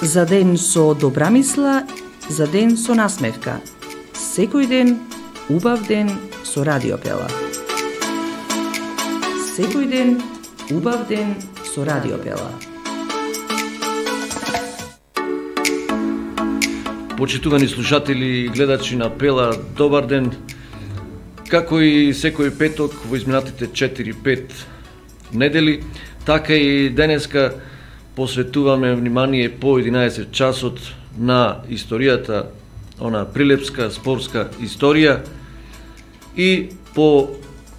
За ден со добра мисла, за ден со насмевка. Секој ден, убав ден со Радио Пела. Секој ден, убав ден со Радио Пела. Почитувани слушатели и гледачи на Пела, добар ден. Како и секој петок во изминатите 4-5 недели, така и денеска посветуваме внимание по 11 часот на историјата, она прилепска спортска историја, и по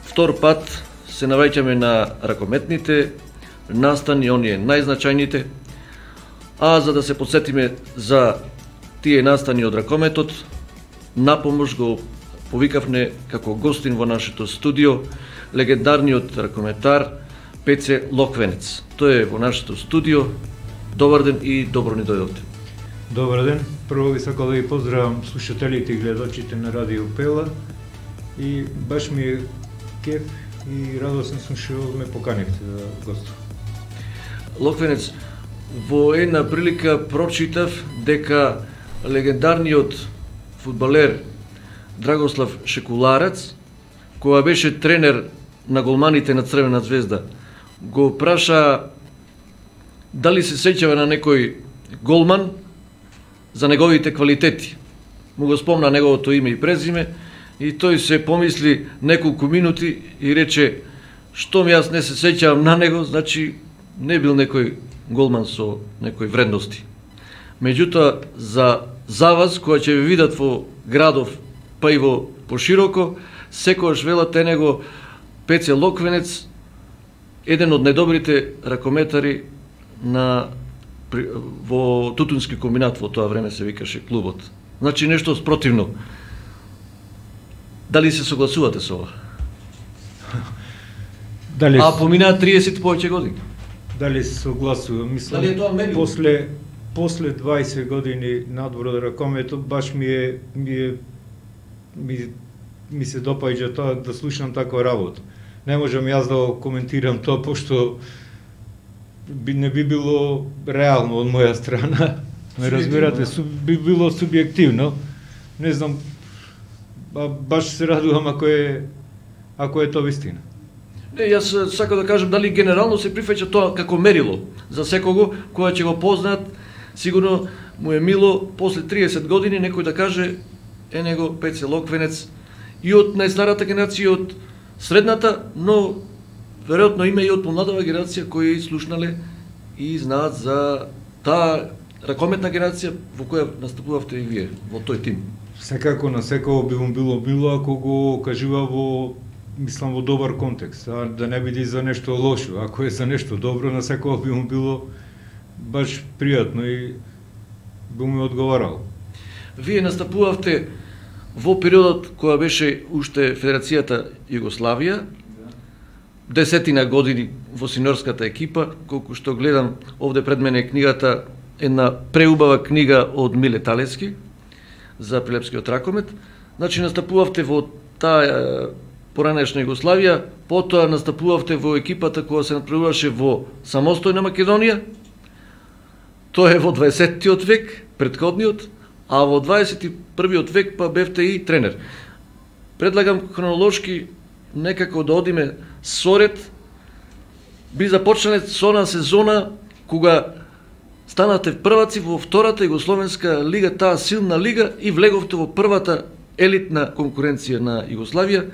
втор пат се навраќаме на ракометните настани, оние најзначајните, а за да се подсетиме за тие настани од ракометот, напомош го повикавме како гостин во нашето студио легендарниот ракометар Пеце Локвенец. Тој е во нашето студио. Добар ден и добро ни дојдовте. Добар ден. Прво ви сакам да ви поздравам слушателите и гледачите на Радио Пела, и баш ми е кеф и радосен сум што ме поканивте да гостувам. Локвенец, во една прилика прочитав дека легендарниот фудбалер Драгослав Шекуларец, која беше тренер на голманите на Црвена звезда, го праша дали се сеќава на некој голман за неговите квалитети. Му го спомна неговото име и презиме и тој се помисли неколку минути и рече: што ми јас не се сеќавам на него, значи не бил некој голман со некои вредности. Меѓутоа, за вас, која ќе ви видат во градов, па и во пошироко, секојаш велат е него Пеце Локвенец, еден од најдобрите ракометари во Тутунски комбинат, во тоа време се викаше клубот. Значи нешто спротивно. Дали се согласувате со ова? А поминаа 30 повеќе години. Дали се согласувам? Мислам, дали е тоа мерило? После 20 години надвор од ракометот, баш ми се допаѓа тоа да слушам таква работа. Не можам јас да коментирам тоа, пошто не би било реално од моја страна. Ме разбирате, би било субјективно. Не знам, баш се радувам ако е тоа вистина. Не, јас сакам да кажам дали генерално се прифаќа тоа како мерило за секого која ќе го познаат. Сигурно му е мило после 30 години некој да каже е него Пеце Локвенец, и од најстарата генерација, од средната, но веројатно има и од помладава генерација кои слушнале и знаат за таа ракометна генерација во која настапувавте и вие, во тој тим. Секако на секој би му било мило ако го кажува во добар контекст, а да не биде за нешто лошо. Ако е за нешто добро, на секој би му било баш пријатно и би му одговарало. Вие настапувавте во периодот која беше уште Федерацијата Југославија, 10 години во синьорската екипа, колку што гледам овде пред мене книгата, една преубава книга од Миле Талески за прилепскиот ракомет. Значи настапувавте во таа поранешна Југославија, потоа настапувавте во екипата која се натпреваруваше во самостојна Македонија. Тоа е во 20-тиот век, предходниот, а во 21-тиот век па бевте и тренер. Предлагам хронолошки некако да одиме соред. Би започнале со она сезона кога станате прваци во втората Југословенска лига, таа силна лига, и влеговте во првата елитна конкуренција на Југославија.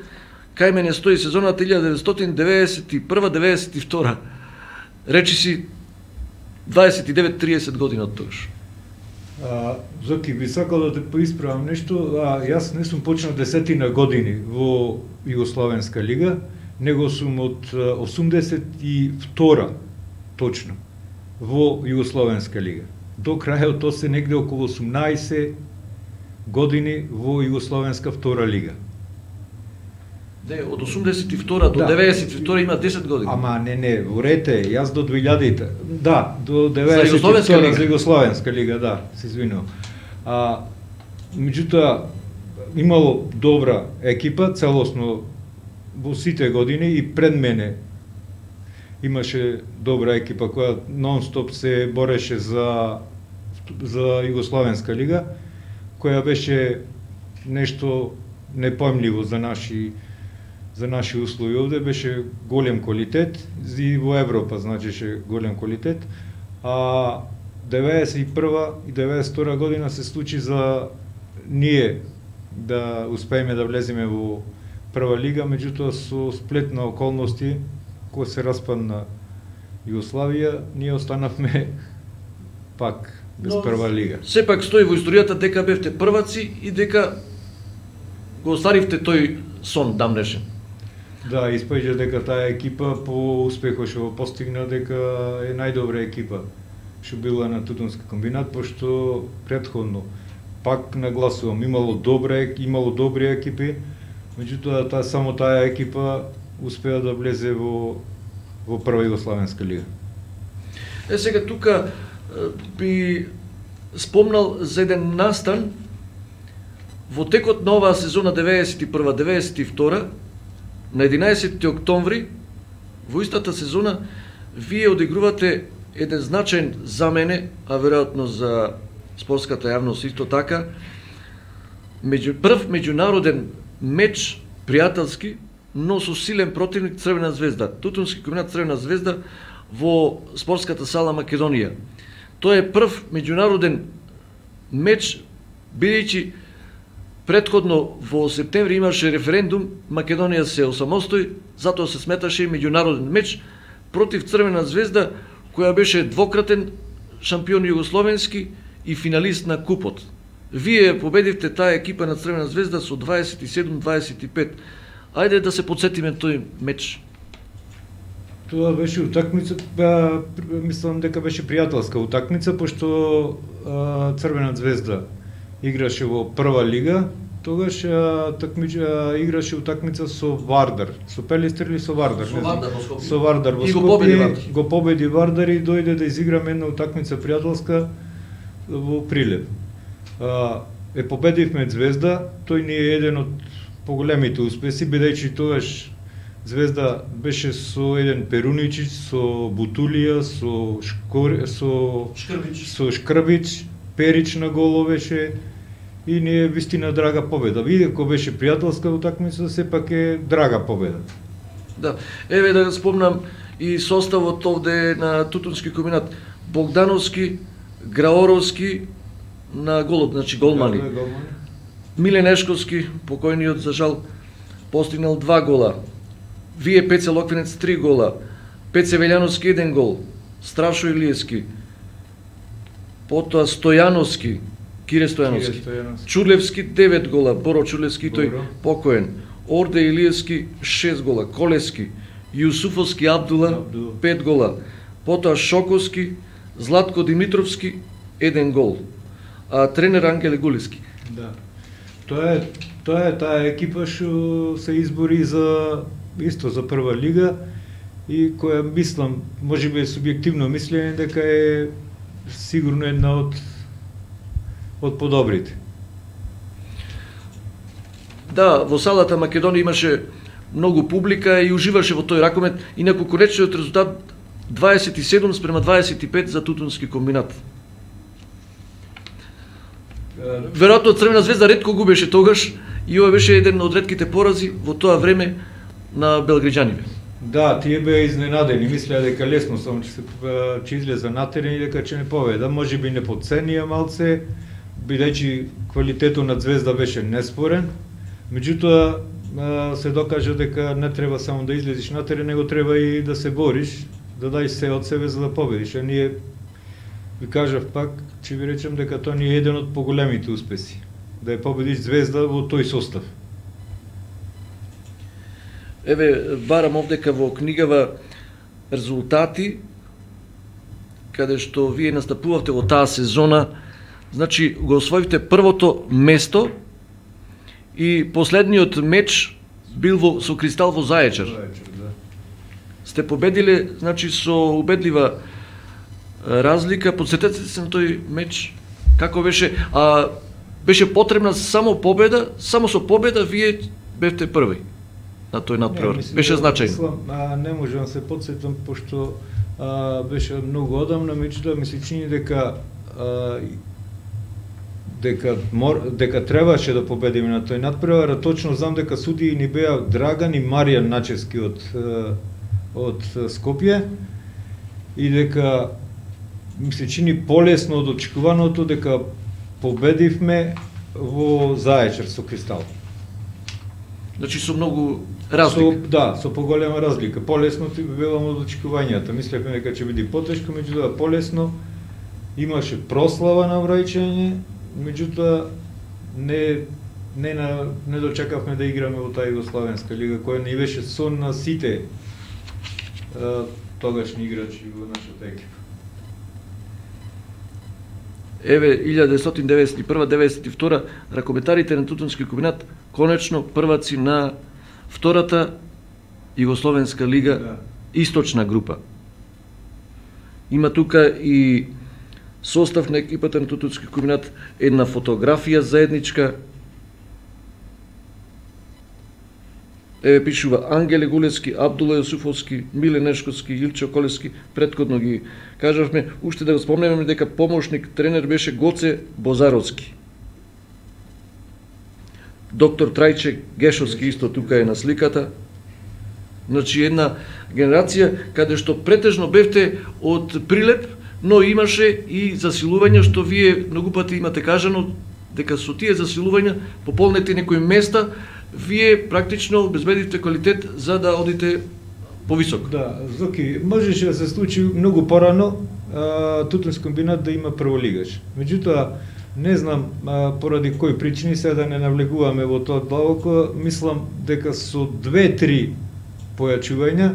Кај мене стои сезоната 1991-92. Речи си 29-30 години од тогаш. Зоки, би сакал да те поисправам нешто. Јас не сум почнал 10 години во Југословенска лига, него сум од 82 точно во Југословенска лига. До крајот тоа се негде околу 18 години во Југословенска втора лига. Не, од 82 до 92 има 10 години. Ама не, урете, јас до 2000-та. Да, до 92 за Југословенска лига, да, се извинувам. Меѓутоа, имало добра екипа, целосно во сите години, и пред мене имаше добра екипа која нон-стоп се бореше за за Југословенска лига, која беше нешто непојмливо за наши услови овде, беше голем квалитет и во Европа значеше голем квалитет, а 91 и 92 година се случи за ние да успееме да влеземе во прва лига, меѓутоа со сплет на околности кој се распадна Југославија, ние останавме пак без прва лига. Сепак стои во историјата дека бевте прваци и дека го оставивте тој сон дамнешен. Да, испаѓа дека таа екипа по успехот што го постигна дека е најдобра екипа што била на Тутунски комбинат, пошто претходно пак нагласувам, имало добри екипи, меѓутоа само таа екипа успеа да влезе во прва Југословенска лига. Сега тука би спомнал за еден настан во текот на оваа сезона 91-92, на 11 октомври, во истата сезона, вие одигрувате еден значаен за мене, а веројатно за спортската јавност исто така, прв меѓународен меч пријателски, но со силен противник Црвена звезда. Тутунски комбинат Црвена звезда во спортската сала Македонија. Тоа е прв меѓународен меч, бидејќи претходно во септември имаше референдум, Македонија се осамостои, затоа се сметаше и меѓународен меч против Црвена звезда, која беше двократен шампион југословенски и финалист на купот. Вие победивте таа екипа на Црвена звезда со 27-25. Ајде да се подсетиме тој меч. Тоа беше утакмица, мислам дека беше пријателска утакмица, пошто Црвена звезда играше во прва лига, тогаш играше утакмица со Вардар, со Пелистер или со Вардар? Со Вардар во Скопје. Го победи Вардар и дојде да изиграме една утакмица пријателска во Прилеп. Победивме Звезда, тој ни е еден од поголемите успеси, бидејќи тогаш Звезда беше со еден Перуничич, со Бутулија, со Шкрбич, Перич на голо беше и ни е вистина драга победа. Видеко беше пријателска утакмица, сепак е драга победа. Да, еве да спомнам и составот овде на Тутунски комбинат. Богдановски, Граоровски на голот, значи голмани. Милен Ешковски, покојниот за жал, постигнал 2 гола. Вие Пеце Локвенец 3 гола. Пеце Велјановски 1 гол. Страшо Илиевски. Потоа Стојановски, Кире Стојановски. Чурлевски 9 гола. Боро Чурлевски, тој покоен. Орде Илиевски 6 гола. Колески, Јусуфовски Абдула 5 гола. Потоа Шоковски, Златко Димитровски 1 гол. А тренер Ангеле Гулиски. Да. Тоа е таа екипа што се избори за прва лига и која мислам, можеби е субјективно мислење дека е сигурно една од подобрите. Да, во салата Македонија имаше многу публика и уживаше во тој ракомет, инаку конечниот резултат 27-25 за Тутунски комбинат. Веројатно Црвена звезда ретко губеше тогаш и ова беше еден од ретките порази во тоа време на белграѓаните. Да, тие беа изненадени, мислеа дека лесно само ќе излезе натерени дека ќе не победа, можеби не потценија малце, бидејќи квалитетот на Звезда беше неспорен. Меѓутоа се докажа дека не треба само да излезеш на терен, него треба и да се бориш, да даеш се од себе за да победиш. А ние, ви кажав пак, ќе ви речем дека тоа ни е еден од поголемите успеси, да ја победиш Звезда во тој состав. Еве, барам овдека во книгава резултати, каде што вие настапувавте во таа сезона, значи го освоивте првото место и последниот меч бил со Кристал во Заечар. Сте победиле, значи со убедлива разлика. Подсетете се на тој меч, како беше, беше потребна само победа, само со победа вие бевте први на тој надпревар. Беше значајно. Не можам се подсетам, пошто беше многу одамна, меѓутоа ми се чини дека дека требаше да победиме на тој надпревар, точно знам дека судии ни беа Драган и Маријан Начевски од Скопје и дека ми се чини полесно од очекуваното дека победивме во Заечар со Кристал. Значи со многу разлика. Со поголема разлика. Полесно велам од очекувањата. Мислевме дека ќе биде потешко, меѓутоа полесно. Имаше прослава на враќање, меѓутоа не дочекавме да играме во таа Југославенска лига, која ни беше сон на сите тогашни играчи во нашата екипа. Еве 1991-92 ракометарите на Тутунски комбинат конечно прваци на втората Југословенска лига, источна група. Има тука и состав на екипата на Тутунски комбинат, една фотографија заедничка. Еве пишува Ангеле Гулевски, Абдула Јосуфовски, Миле Нешковски, Илче Колевски, претходно ги кажавме, уште да го спомнеме дека помошник тренер беше Гоце Бозаровски. Доктор Трајче Гешовски исто тука е на сликата. Значи една генерација каде што претежно бевте од Прилеп, но имаше и засилувања што вие многу пати имате кажано дека со тие засилувања пополнете некои места, вие практично обезбедивте квалитет за да одите повисоко. Да, Зоки, можеше да се случи многу порано Тутунски комбинат да има прволигаш. Меѓутоа, не знам поради кои причини, сега да не навлегуваме во тоа длабоко, мислам дека со 2-3 појачувања,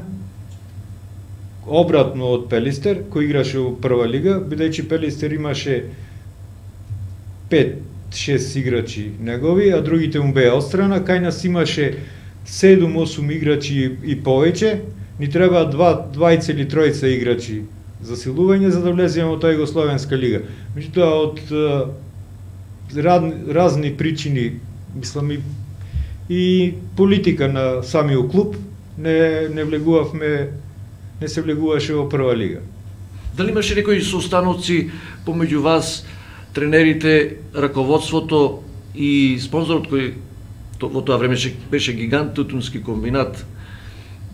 обратно од Пелистер, кој играше во прва лига, бидејќи Пелистер имаше 5-6 играчи негови, а другите му беа отстрана, кај нас имаше 7-8 играчи и повеќе, ни треба 2 или 3 играчи за силување за да влеземе во таа Југословенска лига. Меѓутоа, од разни причини, мислам и политика на самиот клуб, не се влегуваше во прва лига. Дали имаше некои состаноци помеѓу вас, тренерите, раководството и спонзорот кој во тоа време беше Гигант Тутунски комбинат?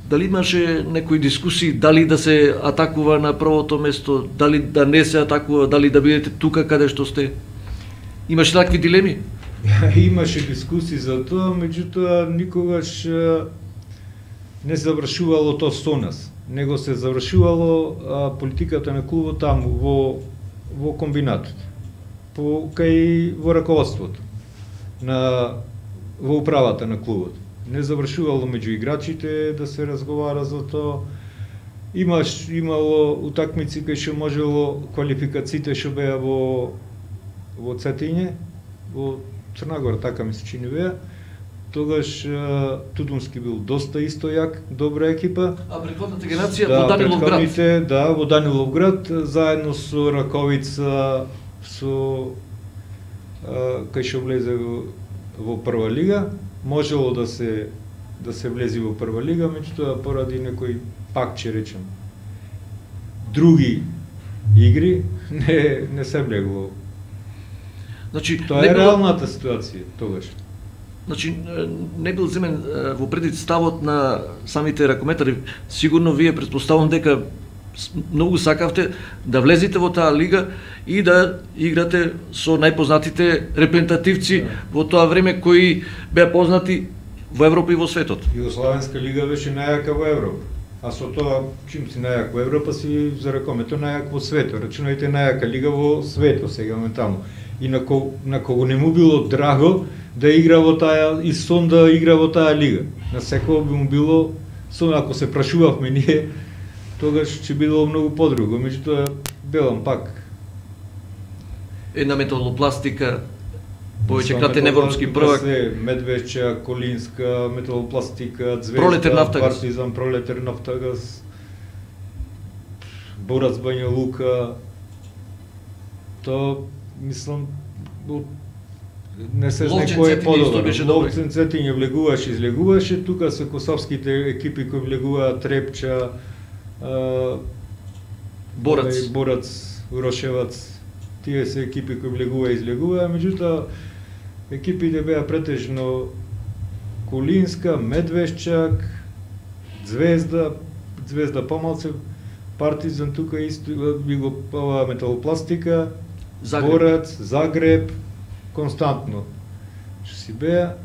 Дали имаше некои дискусии, дали да се атакува на првото место, дали да не се атакува, дали да бидете тука каде што сте? Имаше такви дилеми? Имаше дискусии за тоа, меѓутоа никогаш не завршувало тоа со нас, него се завршувало политиката на клубот таму во комбинатот, во раководството, во управата на клубот. Не завршувало меѓу играчите да се разговара за тоа. Имало утакмици кај што можело квалификациите што беа во Цетиње, во Црнагора, така ми се чини беа. Тогаш Тутунски бил доста исто ја, добра екипа. А предходната генерација во Даниловград? Да, во Даниловград, заедно со Раковица, кај што влезе во прва лига, можело да се влези во прва лига, меѓутоа поради некои, пак ќе речем, други игри, не се влегло. Значи, тоа е реалната ситуација тогаш. Значи, не бил земен во предвид ставот на самите ракометари. Сигурно вие претпоставувам дека многу сакавте да влезете во таа лига и да играте со најпознатите репрезентативци во тоа време кои беа познати во Европа и во светот. Југославенска лига беше најака во Европа. А со тоа, чим си најак во Европа, си за ракомето најак во светот. Рачунајте најака лига во светот сега моментално. И на кого не му било драго да игра во таа и сон да игра во таа лига. На секој би му било сон, ако се прашувавме ние, тогаш ќе било многу подруго. Меѓутоа, белам пак. Една металопластика, повеќе кратен европски првак. Медвеча, Колинска, металопластика, Звезда, Пролетар Нафтагаз. Партизан, Пролетар Нафтагаз, Борац Бања Лука. Тоа, мислам, не се знае кој е подобар. Ловцен Цетиње влегуваше, излегуваше, тука се косовските екипи кои влегуваат Трепча, Борац, Урошевац, тие се екипи кои влегува и излегува, меѓутоа екипите беа претежно Кулинска, Медвешчак, Звезда помалце, Партизан тука исто, Металопластика, Борац, Загреб, константно. Што си беа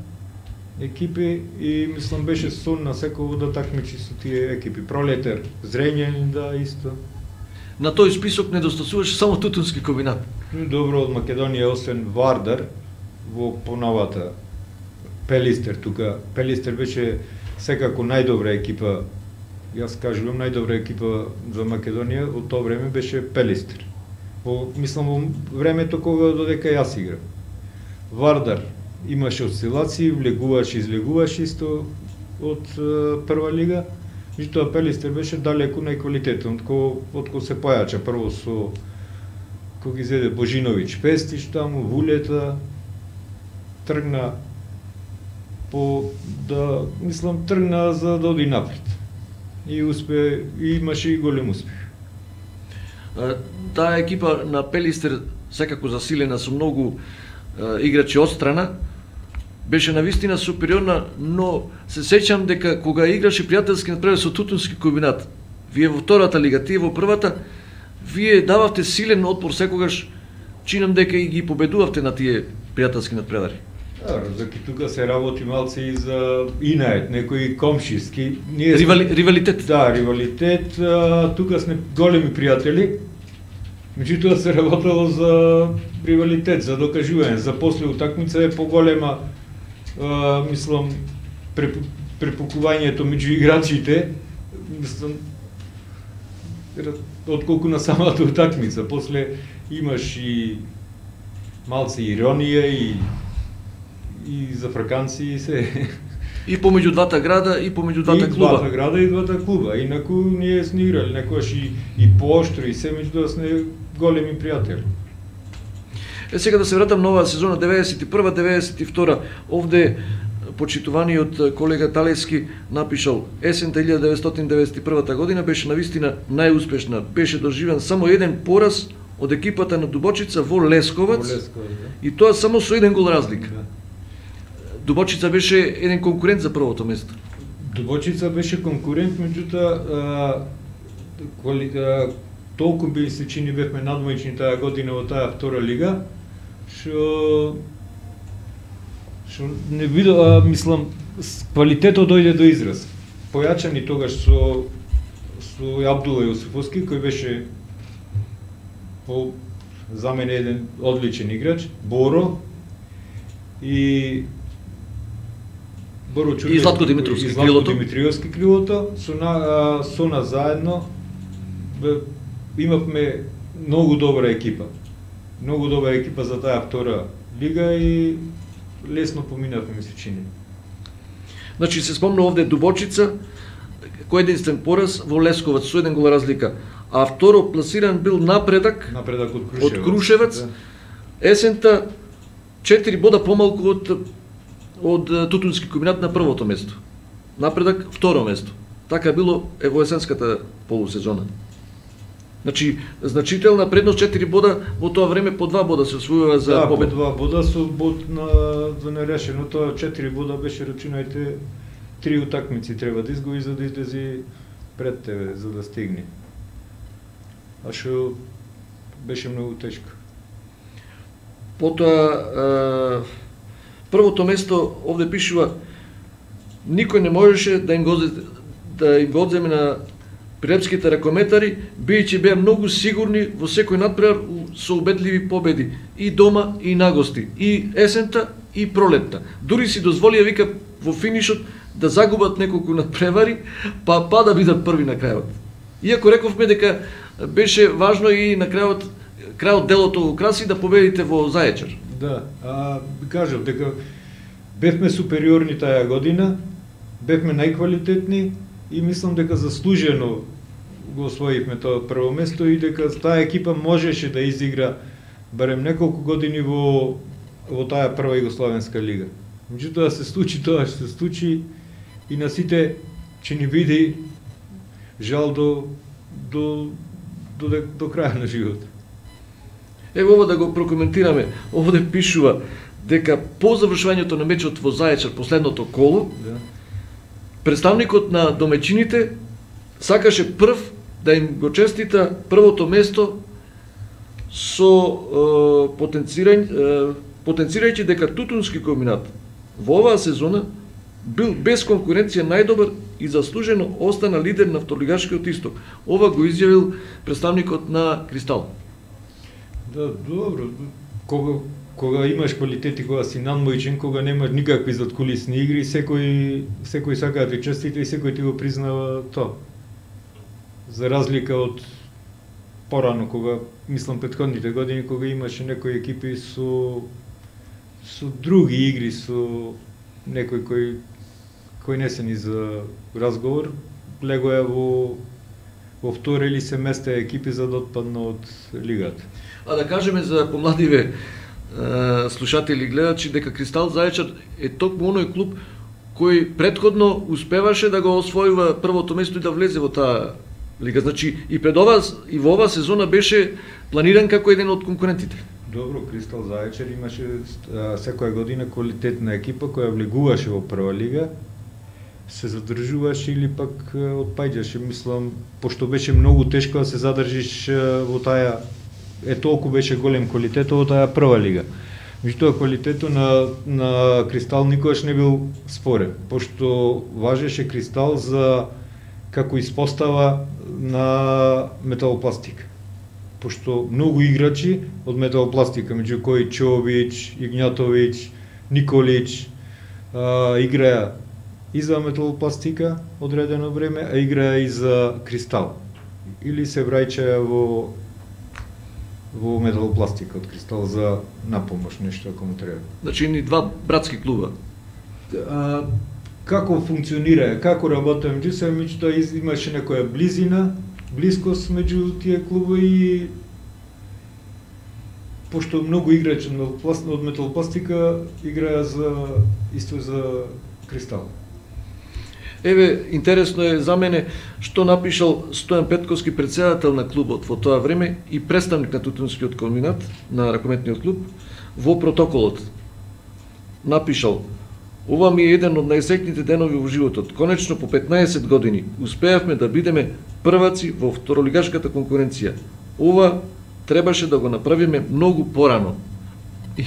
екипи и мислам беше сон на секој да такмичи со тие екипи. Пролетер, Зрењанин, да, исто. На тој список недостасуваше само Тутунски комбинат. Добро од Македонија, освен Вардар, во поновата Пелистер тука. Пелистер беше секако најдобра екипа, јас кажувам најдобра екипа за Македонија, во тоа време беше Пелистер. Мислам во времето кога додека јас играм. Вардар имаше осцилации, влегуваш и излегуваш исто од прва лига, меѓутоа Пелистер беше далеку најквалитетен, од кој се појача прво со кој ги зеде Божиновиќ Пестиш таму, Вулета, тргна тргна за да оди напред. И успе, и имаше и голем успех. Таа екипа на Пелистер секако засилена со многу играчи одстрана, беше навистина супериорна, но се сеќам дека кога играше пријателски надпревар со Тутунски комбинат, вие во втората лига, тие во првата, вие дававте силен отпор секогаш, чинам дека и ги победувавте на тие пријателски надпревари. Заки тука се работи малце и за инает, некои комшиски. Ривалитет. Да, ривалитет. Тука сме големи пријатели. Меѓутоа се работело за ривалитет, за докажување. За после утакмица е поголема, мислам, препукувањето меѓу играчите, мислам, отколку на самата утакмица. После имаш и малце иронија и за фраканци и се. И помеѓу двата града, и помеѓу двата клуба. И двата града, и двата клуба. Инаку ние сме играли, некојаш и пооштро, и се меѓутоа сме големи пријатели. Сега да се вратам на оваа сезона 91-92, овде почитуваниот колега Талески напишал: есента 1991 година беше навистина најуспешна. Беше доживен само еден пораз од екипата на Дубочица во Лесковац, да. И тоа само со еден гол разлика. Да. Дубочица беше еден конкурент за првото место. Дубочица беше конкурент, меѓутоа толку би се чини бевме надмоćни таа година во таа втора лига, што не видов, мислам, квалитетот дојде до израз. Појачани тогаш со Абдула Јосифовски, кој беше за мене еден одличен играч, Боро и Боро Чурдев, и Златко Димитриевски крилото, со нас заедно имавме многу добра екипа. Многу добра екипа за таа втора лига и лесно поминавме, ми се чини. Значи се спомна овде Дубочица, кој единствен пораз во Лесковац со еден гол разлика, а второ пласиран бил Напредак од Крушевец. Да. Есента 4 бода помалку од Тутунски комбинат на првото место. Напредак второ место. Така било во есенската полусезона. Значи, значителна предност 4 бода, во тоа време по 2 бода се освојува за победа. Да, по 2 бода со бод за нерешено, тоа 4 бода беше, рачунајте, 3 утакмици треба да изгуби за да излези пред тебе, за да стигне. А што беше многу тешко. Потоа, првото место, овде пишува, никој не можеше да им го одземе на прилепските ракометари, бијќи беа многу сигурни во секој надпревар со убедливи победи и дома и на гости, и есента и пролетта. Дури си дозволија, вика, во финишот да загубат неколку надпревари, па да бидат први на крајот. Иако рековме дека беше важно и на крајот делото го краси да победите во Заечар. Да, кажав дека бевме супериорни таа година, бевме најквалитетни и мислам дека заслужено го освоивме тоа прво место и дека таа екипа можеше да изигра барем неколку години во таа прва Југословенска лига. Меѓутоа се случи тоа што се случи и на сите ќе ни биде жал до крај на животот. Ево ова да го прокоментираме. Овде пишува дека по завршувањето на мечот во Заечар последното коло, Да. представникот на домечините сакаше прв да им го честита првото место со потенцирајќи дека Тутунски комбинат во оваа сезона бил без конкуренција најдобар и заслужено остана лидер на второлигашкиот исток. Ова го изјавил представникот на Кристал. Да, добро. Кога имаш квалитети, кога си надмојчен, кога немаш никакви задкулисни игри, секој сака да ти честита и секој ти го признава тоа. За разлика од порано, кога, мислам, претходните години, кога имаше некои екипи со други игри, со некој кој не се ни за разговор, легоја во втора или се места екипи за да отпадна од лигата. А да кажеме за помладиве слушатели и гледачи дека Кристал Заечар е токму оној клуб кој претходно успеваше да го освојува првото место и да влезе во таа лига. Значи и пред ова и во оваа сезона беше планиран како еден од конкурентите. Добро, Кристал Заечар имаше секоја година квалитетна екипа која влегуваше во прва лига, се задржуваше или пак отпаѓаше, мислам, пошто беше многу тешко да се задржиш во таа, толку беше голем квалитетот во таа прва лига. Меѓутоа квалитетот на Кристал никогаш не бил спорен, пошто важеше Кристал за како испостава на Металопластика. Пошто многу играчи од Металопластика, меѓу кои Чович, Игњатовиќ, Николич, играа и за Металопластика одредено време, а играа и за Кристал. Или се враќаја во Металопластика од Кристал за напомош, нешто ако му треба. Значи ни два братски клуба. Како функционира, како работам меѓу се, меѓутоа имаше некоја блискост меѓу тие клубови и пошто многу играчи од Металопластика играа исто за Кристал. Еве, интересно е за мене што напишал Стојан Петковски, председател на клубот во тоа време и представник на Тутунскиот комбинат, на ракометниот клуб, во протоколот. Напишал: "Ова ми е еден од најсреќните денови во животот. Конечно, по 15 години успеавме да бидеме прваци во второлигашката конкуренција. Ова требаше да го направиме многу порано." И,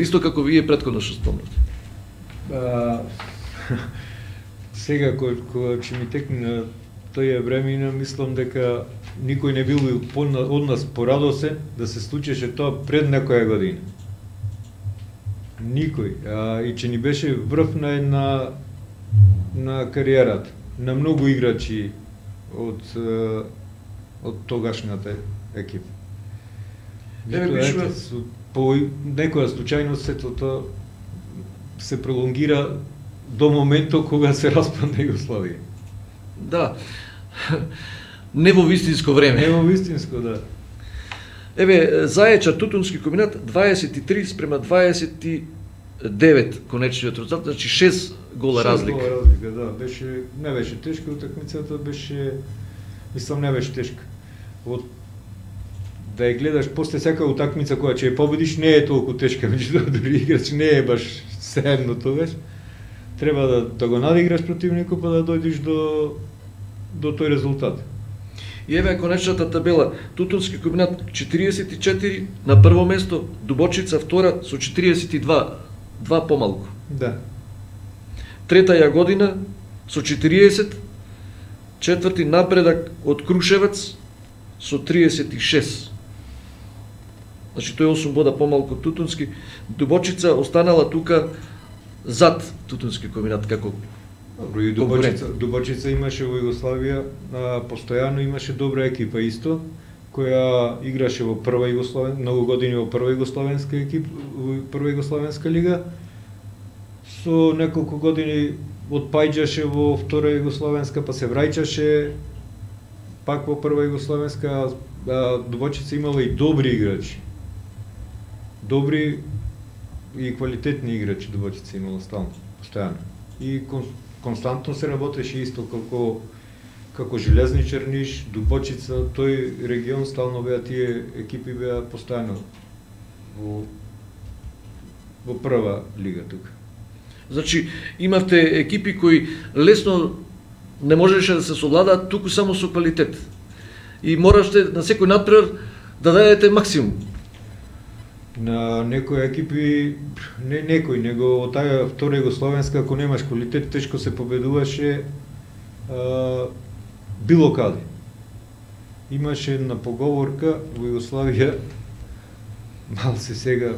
исто како вие претходно што спомнате. Сега, кога ќе ми текне на тоја времена, мислам дека никој не бил од нас порадосен да се случеше тоа пред некоја година. Никој. И че ни беше врв на кариерата, на многу играчи од тогашната екипа. По некоја случајност сето тоа се пролонгира до моментот кога се распадна Југославија. Да. Не во вистинско време. Не во вистинско, да. Еве, Заечар Тутунски комбинат 23 спрема 29 конечниот резултат, значи 6 гола разлика. 6 гола разлика, да. Не беше тешка утакмицата, мислам, не беше тешка. Да ја гледаш после секоја утакмица која ќе ја победиш, не е толку тешка, меѓутоа дури играч не е баш сеедно тогаш. Треба да го надиграш противникот па да дојдеш до тој резултат. И еве конечната табела. Тутунски комбинат 44 на прво место, Дубочица втора со 42, два помалку. Да. Трета Јагодина со 40, четврти Напредак од Крушевец со 36. Значи тој 8 бода помалку од Тутунски. Дубочица останала тука зад Тутунски комбинат како добро, и Дубочица имаше во Југославија, постојано имаше добра екипа исто, која играше во прва многу години во прва југославенска лига. Со неколку години отпаѓаше во втора југославенска, па се враќаше пак во прва југославенска. Дубочица имала и добри играчи. Добри и квалитетни играчи Дубочица имала стално, постојано. И константно се работеше исто како Железничар Ниш, Дубочица, тој регион стално беа тие екипи беа постојано во прва лига тука. Значи, имавте екипи кои лесно не можеше да се совладаат туку само со квалитет. И мораште на секој надпревар да дадете максимум. На некои екипи, не некој, него од таа втора Југословенска, ако немаш квалитет, тешко се победуваше било каде. Имаше една поговорка во Југославија, мал се сега,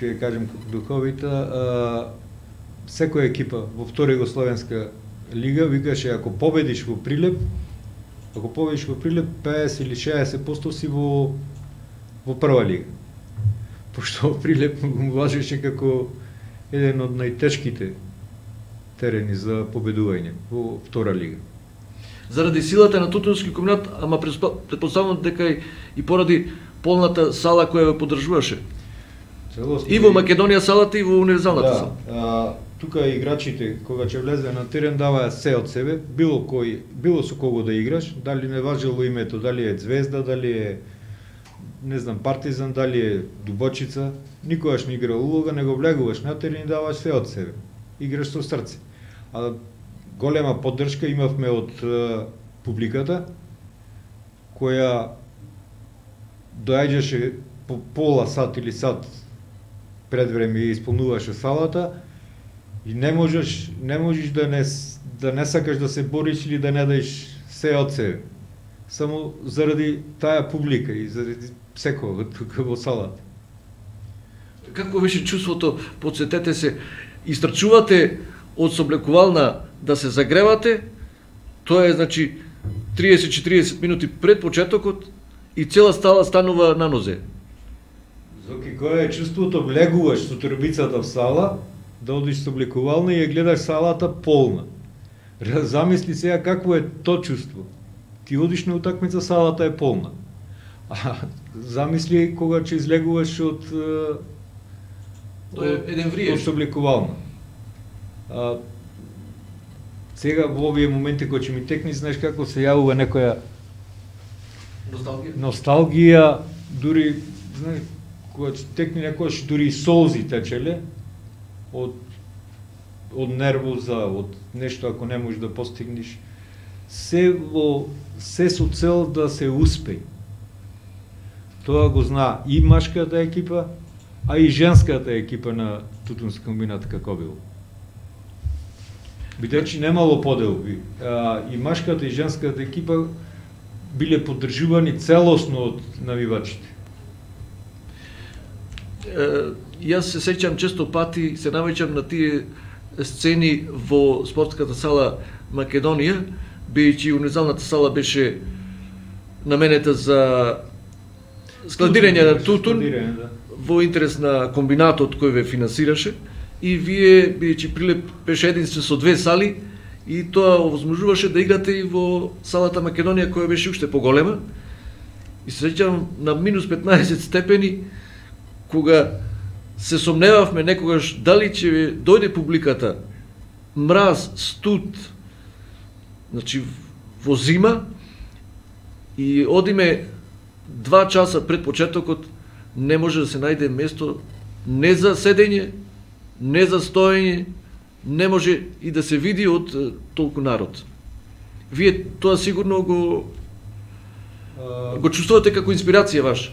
ќе кажем духовита, секоја екипа во втора Југословенска лига викаше ако победиш во Прилеп, 50 или 60% си во прва лига. Пошто Прилеп го важеше како еден од најтешките терени за победување во втора лига. Заради силата на Тутунски комбинат, ама предпоставувам дека и поради полната сала која ја поддржуваше. Целосно, и во Македонија салата и во универзалната сала. Да, тука играчите кога ќе влезе на терен даваа се од себе, било со кого да играш, дали не важело името, дали е Звезда, дали е не знам Партизан, дали е Дубочица, никогаш не игра улога, него влегуваш на терен и даваш се од себе. Играш со срце. А голема поддршка имавме од публиката, која доаѓаше по пола сат или сат пред време и исполнуваше салата и не можеш да не сакаш да се бориш или да не даеш се од себе. Само заради таа публика и заради секој тука во салата. Како беше чувството, подсетете се, истрчувате од соблекувална да се загревате, тоа е значи 30-40 минути пред почетокот и цела стала станува на нозе. Зоки, кој е чувството, влегуваш со турбицата в сала, да одиш со облекувална и ја гледаш салата полна. Замисли сега какво е то чувство. Ти одиш на утакмица, салата е полна. А замисли кога ќе излегуваш од еден вриеш. Од облекувална. Сега во овие моменти кои ќе ми текни, знаеш како се јавува некоја носталгија, дури знаеш кога ќе текни некојаш дури и солзи течеле од нервоза, од нешто ако не можеш да постигнеш, се со цел да се успее. Тоа го зна и машката екипа, а и женската екипа на Тутунски комбинат како било. Бидејќи немало поделби, и машката и женската екипа биле поддржувани целосно од навивачите. Јас се сеќам често пати, се навеќам на тие сцени во спортската сала Македонија, бидејќи универзалната сала беше наменета за складирање на тутун во интерес на комбинатот кој ве финансираше, и вие, бидејќи Прилеп беше единствен со две сали, и тоа овозможуваше да играте и во салата Македонија која беше уште поголема. И се сеќам на минус 15 степени, кога се сомневавме некогаш дали ќе дојде публиката, мраз, студ, значи во зима, и одиме 2 часа пред почетокот, не може да се најде место не за седење, не за стоење, не може и да се види од толку народ. Вие тоа сигурно го чувствувате како инспирација ваша?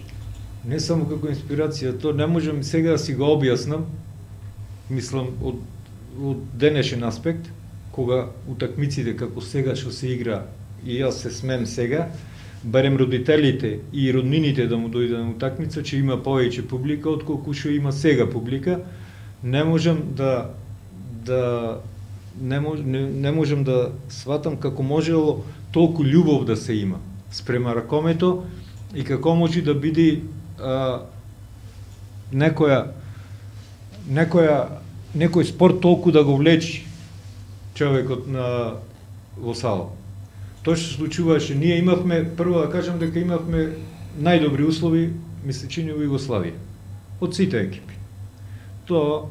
Не само како инспирација, то не можам сега да си го објаснам, мислам, од денешен аспект, кога утакмиците како сега што се игра, и јас се смем сега, барем родителите и роднините да му дојде на утакмица, че има повеќе публика, отколку што има сега публика, не можам да сватам како можело толку љубов да се има спрема ракомето и како може да биде некој спорт толку да го влечи човекот во сала. Тоа што се случуваше, ние имавме, прво да кажам дека имавме најдобри услови, ми се чини во Југославија, од сите екипи. Тоа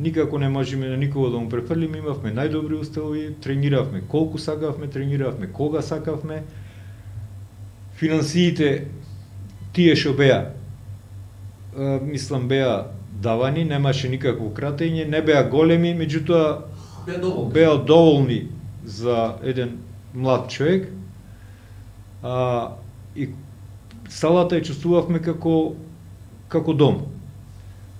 никако не можеме на никого да му префрлиме, имавме најдобри устави, трениравме колку сакавме, трениравме кога сакавме. Финансиите тие што беа, мислам беа давани, немаше никакво кратење, не беа големи, меѓутоа беа доволни за еден млад човек. И салата ја чувствувавме како дом.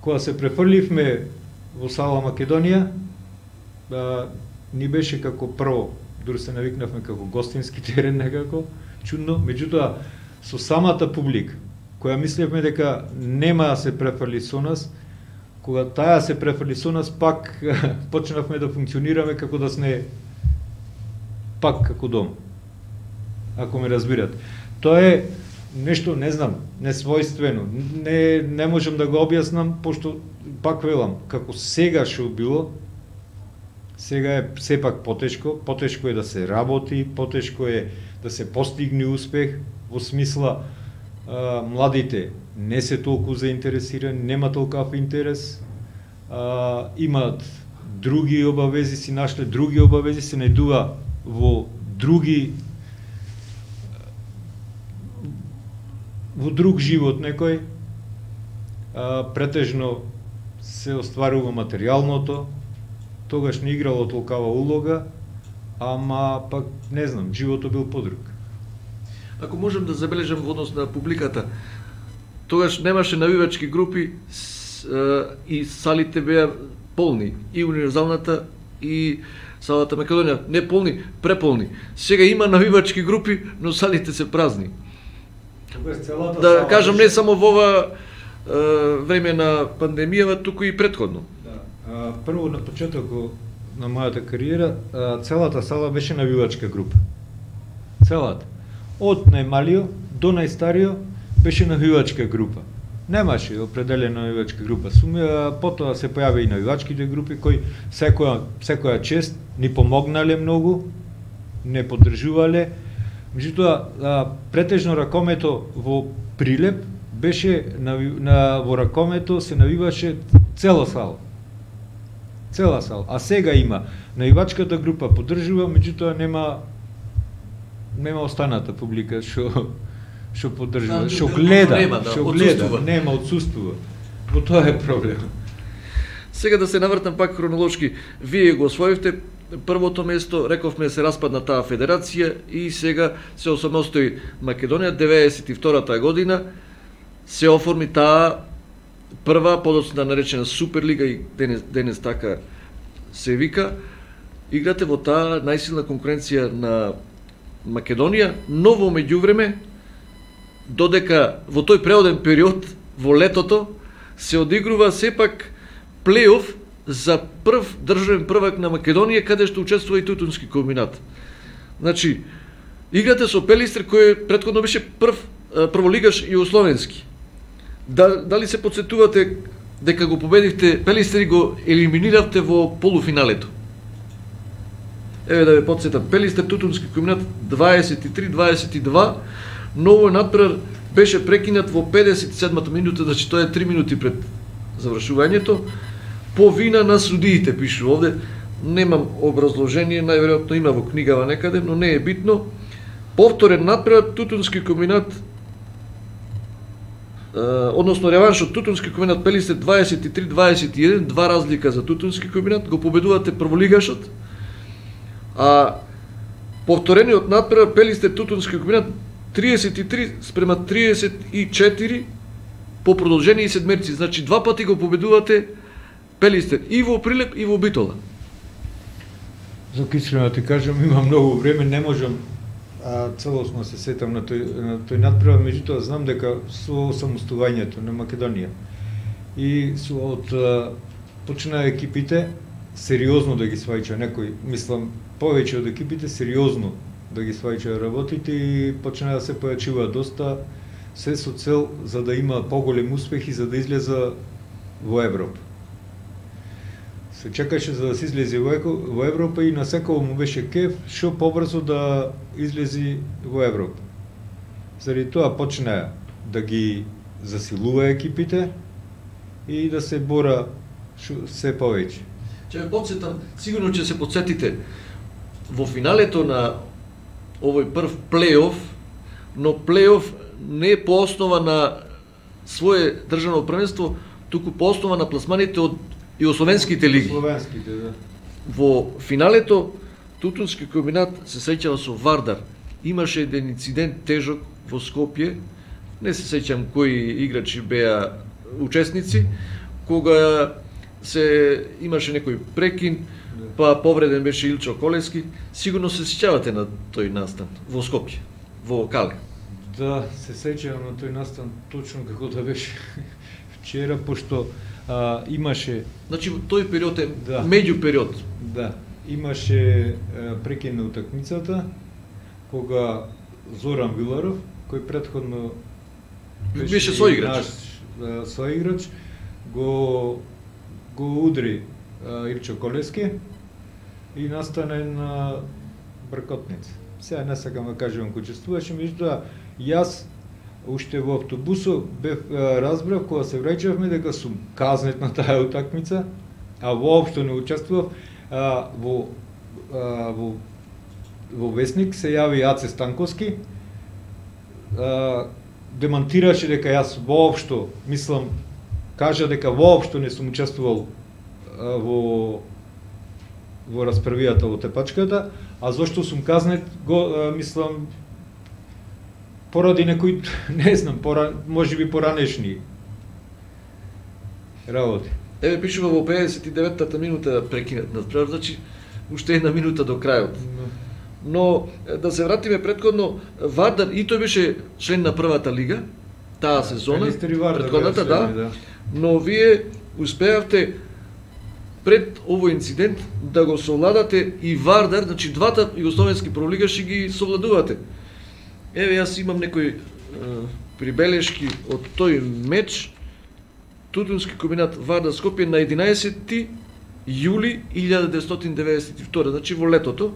Кога се префрливме во сала Македонија, ни беше како прво, дури се навикнавме како гостински терен некако, чудно, меѓутоа со самата публика, која мислевме дека нема да се префрли со нас, кога таа се префрли со нас, пак почнавме да функционираме како да сме пак како дом. Ако ме разбирате. Тоа е нешто, не знам, несвојствено. Не можам да го објаснам, пошто пак велам, како сега што било, сега е сепак потешко е да се работи, потешко е да се постигне успех, во смисла младите не се толку заинтересирани, нема толкав интерес, имаат други обавези, си нашле други обавези, се најдува во друг живот некој, претежно се остварува материјалното, тогаш не играло толкава улога, ама пак не знам, животот бил подруг. Ако можем да забележам во однос на публиката, тогаш немаше навивачки групи и салите беа полни, и универзалната и салата Македонија, не полни, преполни. Сега има навивачки групи, но салите се празни. Да кажам, не само во ова време на пандемијава, туку и претходно. Да. Прво на почетокот на мојата кариера, целата сала беше навивачка група. Целата. Од најмалио до најстарио беше навивачка група. Немаше определена навивачка група. Потоа се појави и навивачките групи кои секоја чест ни помогнале многу, не поддржувале. Меѓутоа, претежно ракомето во Прилеп беше во ракомето се навиваше цела сала. Цела сала. А сега има навивачката група поддржува, меѓутоа нема останата публика што поддржува, што гледа, нема, отсуствува. Во тоа е проблем. Сега да се навртам пак хронолошки, вие го освоивте првото место, рековме се распадна таа федерација и сега се осамостои Македонија, 92-та година се оформи таа прва, подоцна наречена Суперлига и денес така се вика. Играте во таа најсилна конкуренција на Македонија, но во меѓувреме, додека во тој преоден период, во летото, се одигрува сепак плейоф за прв државен првак на Македонија, каде што учествува и Тутунски комбинат. Значи, играте со Пелистер, кој претходно беше прволигаш југословенски. Дали се подсетувате дека го победивте Пелистер и го елиминиравте во полуфиналето? Еве да ве подсетам, Пелистер Тутунски комбинат 23-22, но овој надпревар беше прекинат во 57-та минута, значи тоа е 3 минути пред завршувањето, по вина на судиите, пишу овде. Немам образложение, најверојатно има во книгава некаде, но не е битно. Повторен надпревар Тутунски комбинат, односно реванш од Тутунски комбинат Пелистер 23-21, два разлика за Тутунски комбинат, го победувате прволигашот, а повторениот надпревар Пелистер Тутунски комбинат 33-34 по продолжени седмерци, значи два пати го победувате Пелистер и во Прилеп и во Битола. За искрено да ти кажам, има многу време, не можам целосно се сетам на тој надпревар, меѓутоа знам дека со самостојањето на Македонија и почнаа екипите сериозно да ги сваќа некој, мислам, повеќе од екипите сериозно да ги сваќа работите и почнаа да се појачуваат доста, се со цел за да има поголем успех и за да излеза во Европа. Се чекаше за да се излезе во Европа и на секој му беше кеф што побрзо да излези во Европа. Заради тоа почнаа да ги засилува екипите и да се бора се повеќе. Ќе ве потсетам, сигурно ќе се потсетите, во финалето на овој прв плей-оф, но плей-оф не е по основа на свое државно првенство, туку по основа на пласманите од југословенските лиги. Да. Во финалето Тутунски комбинат се сеќава со Вардар. Имаше еден инцидент тежок во Скопје, не се сеќам кои играчи беа учесници, кога се имаше некој прекин, па повреден беше Илчо Колески. Сигурно се сеќавате на тој настан во Скопје, во Кале. Да, се сеќавам на тој настан точно како да беше вчера, пошто имаше... Значи, тој период е меѓу период. Да, имаше прекин на утакмицата, кога Зоран Виларов, кој претходно беше соиграч, го удри Илчо Колески и настане на бркотница. Сега не сакам да кажам кој учествуваше, меѓутоа јас уште во автобусот разбрав кога се враќавме дека сум казнет на таа утакмица, а воопшто не учествував. Во весник се јави Аце Станковски, демантираше дека јас воопшто, мислам, кажа дека воопшто не сум учествувал во расправијата во тепачката, а зошто сум казнет, мислам, поради некои, не знам, можеби поранешни работи. Еве пишува во 59-та минута прекинат на справа, значи уште една минута до крајот. Но да се вратиме претходно, Вардар и тој беше член на првата лига таа сезона, претходната, да. Но вие успеавте пред овој инцидент да го совладате и Вардар, значи двата југословенски прволигаши ги совладувате. Еве јас имам некои прибелешки од тој меч. Тутунски комбинат Вардар Скопје на 11 јули 1992, значи во летото.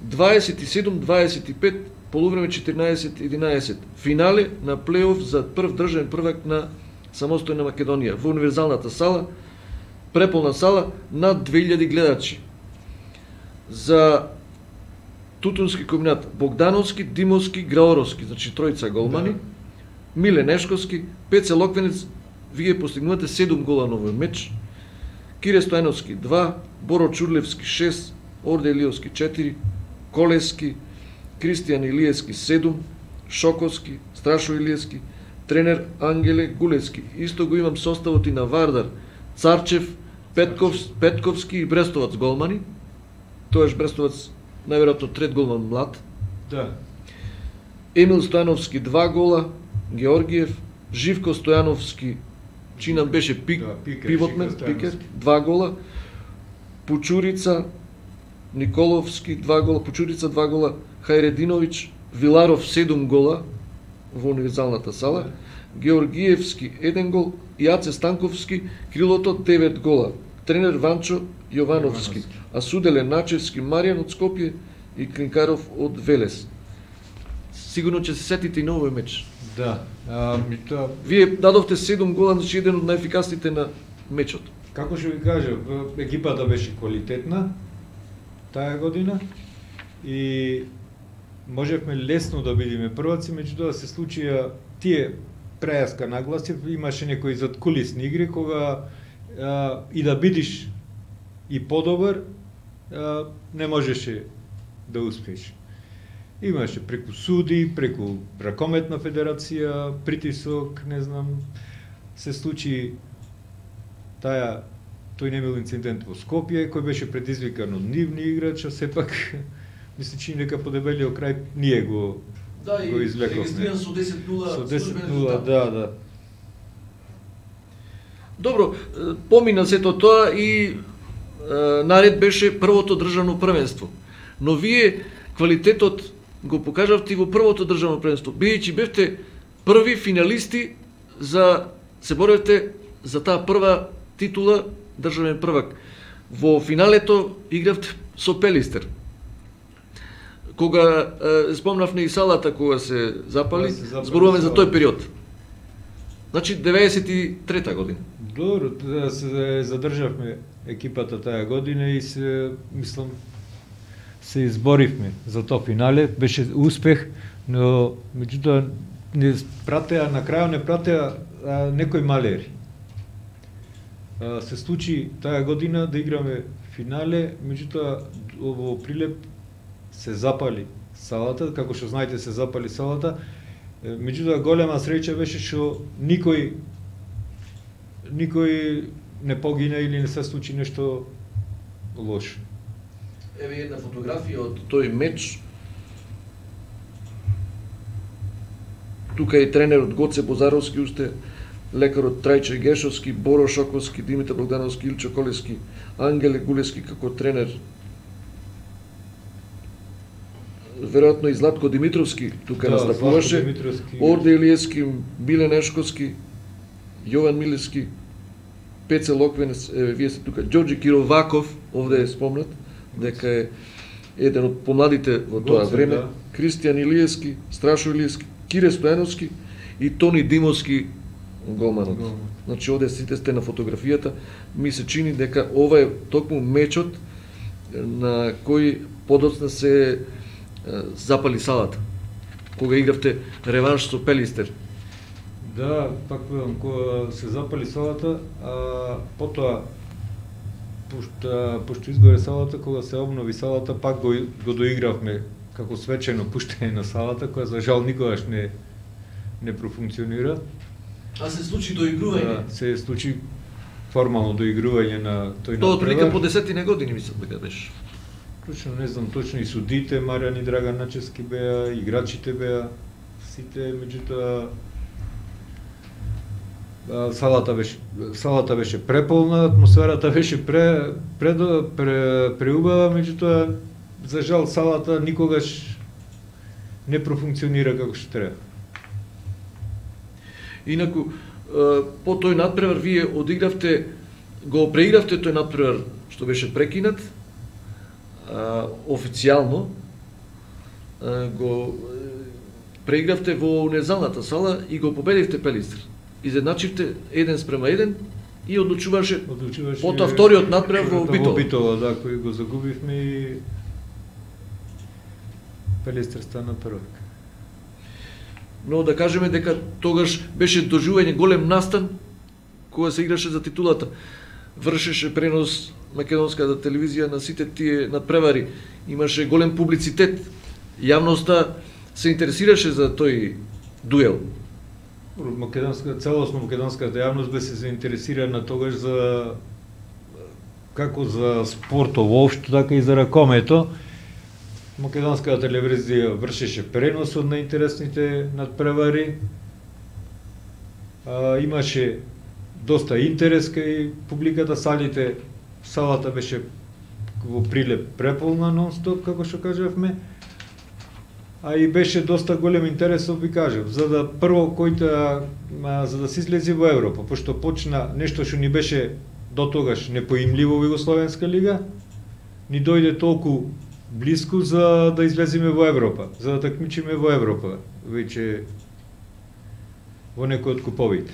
27-25, полувреме 14-11. Финале на плей-оф за прв државен првак на самостојна Македонија во универзалната сала, преполна сала, над 2000 гледачи. За Тутунски комбинат Богдановски, Димовски, Граоровски, значи тројца голмани, Миле Нешковски, Пеце Локвенец, вие постигнувате 7 гола на овој меч, Кире Стојановски 2, Боро Чурлевски 6, Орде Илиевски 4, Колески, Кристијан Илиевски 7, Шоковски, Страшо Илиевски, тренер Ангеле Гулевски. Исто го имам составот и на Вардар, Царчев, Петковски и Брестовац голмани. Тоаш Брестовац најверојатно трет голман млад. Да. Емил Стојановски 2 гола, Георгиев, Живко Стојановски, чинам беше пивотмен, пикер, 2 гола, Пучурица, Николовски 2 гола, Пучурица 2 гола, Хајрединовиќ, Виларов 7 гола во универзалната сала, Георгиевски 1 гол, Јаце Станковски, крилото 9 гола, тренер Ванчо Јовановски, а суделе Начевски Маријан од Скопје и Клинкаров од Велес. Сигурно ќе се сетите и на овој меч. Да. Вие дадовте 7 гола, значи еден од најефикасните на мечот. Како што ви кажа, екипата беше квалитетна таа година и можевме лесно да бидеме прваци, меѓутоа се случија тие прејаска нагласи, имаше некои задкулисни игри кога и да бидиш и подобар не можеше да успееш. Имаше преку суди, преку ракометна федерација, притисок, не знам, се случи тој немил инцидент во Скопје, кој беше предизвикан од нивни играча, сепак мисли че дека по дебелиот крај ние го извлековме. Да, и со 10-0. Со 10-0, да. Добро, помина сето тоа и наред беше првото државно првенство. Но вие квалитетот го покажавте и во првото државно првенство. Бидејќи бевте први финалисти се боревте за таа прва титула државен првак. Во финалето игравте со Пелистер. Кога спомнавме и салата кога се запали, зборуваме за тој период. Значи 93-та година. Добро, да се задржавме екипата таа година и мислам, се изборивме за тоа финале, беше успех, но меѓутоа не пратеа, на крајот не пратеа некои малери. Се случи таа година да играме финале, меѓутоа во Прилеп се запали салата, како што знаете се запали салата, меѓутоа голема среќа беше што никој не погина или не се случи нешто лошо. Еве една фотографија од тој меч. Тука е тренерот Гоце Бозаровски, уште лекарот Трајче Гешовски, Боро Шоковски, Димитар Богдановски, Илчо Колески, Ангеле Гулески како тренер. Веројатно и Златко Димитровски тука настапуваше. Орде Илиевски, Биле Нешковски, Јован Милевски, Пеце Локвенец, вие сте тука, Ѓорѓи Кироваков, овде е спомнат, дека е еден од помладите во тоа време, Кристијан Илиевски, Страшо Илиевски, Кире Стојановски и Тони Димовски, голманот. Значи, овде сите сте на фотографијата, ми се чини дека ова е токму мечот на кој подоцна се запали салата, кога игравте реванш со Пелистер. Да, пак велам, кога се запали салата, потоа, пошто изгоре салата, кога се обнови салата, пак го доигравме како свечено пуштење на салата, која за жал никогаш не профункционира. А се случи доигрување? Да, се случи формално доигрување на тој надпревар. Тоа отприлика по 10 години, мислам дека беше. Точно не знам точно, и судите, Маријан и Драган Начевски беа, играчите беа, сите, меѓутоа салата беше преполна, атмосферата беше преубава, меѓутоа за жал салата никогаш не профункционира како што треба. Инаку, по тој надпревар вие одигравте, го преигравте тој надпревар што беше прекинат, официјално, го преигравте во унезалната сала и го победивте Пелистер. Изедначивте 1:1 и одлучуваше потоа вториот надпревар во Битола. Во Битола, да, кој го загубивме и Пелистер стана првак. Но да кажеме дека тогаш беше доживување голем настан кога се играше за титулата. Вршеше пренос македонската телевизија на сите тие надпревари. Имаше голем публицитет. Јавноста се интересираше за тој дуел. Целосно македонската јавност беше заинтересирана тогаш за како за спортот воопшто, така и за ракомето. Македонската телевизија вршеше пренос од најинтересните надпревари. Имаше доста интерес кај публиката, салата беше во Прилеп преполна нон-стоп, како што кажавме. А и беше доста голем интерес, ви кажав, за да се излези во Европа, пошто почна нешто што ни беше до тогаш непоимливо во Југословенска лига, ни дојде толку блиску за да излеземе во Европа, за да такмичиме во Европа, веќе во некој од куповите.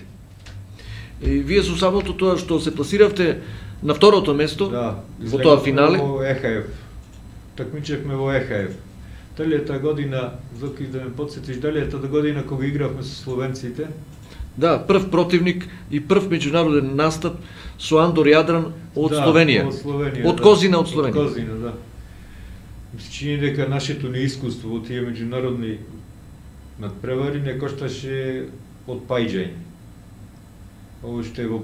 И вие со самото тоа што се пласиравте на второто место, да, во тоа финале, во ЕХФ. Такмичевме во ЕХФ. Дали е таа година, Зоки, да ме подсетиш, дали е таа година кога игравме со словенците? Да, прв противник и прв меѓународен настап со Андор Јадран од Словенија. Од Козина од Словенија. Од Козина, да. Ми се чини дека нашето неискуство во тие меѓународни надпревари не кошташе од пајџање. Уште во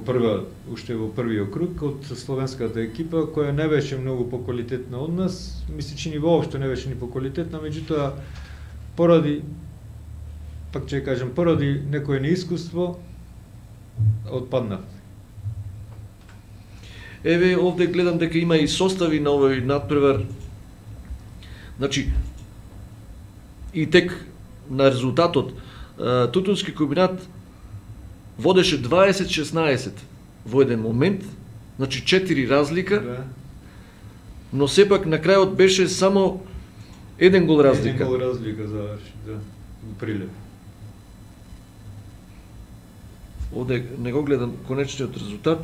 првиот круг од словенската екипа, која не беше многу поквалитетна од нас, ми се чини воопшто не беше ни поквалитетна, меѓутоа поради некое неискуство отпаднав. Еве овде гледам дека има и состави на овој надпревар. Значи и тек на резултатот Тутунски комбинат водеше 20-16 во еден момент, значи 4 разлика, Да. но сепак на крајот беше само еден гол разлика. Еден гол разлика заврши, да, во Прилеп. овде не го гледам конечниот резултат,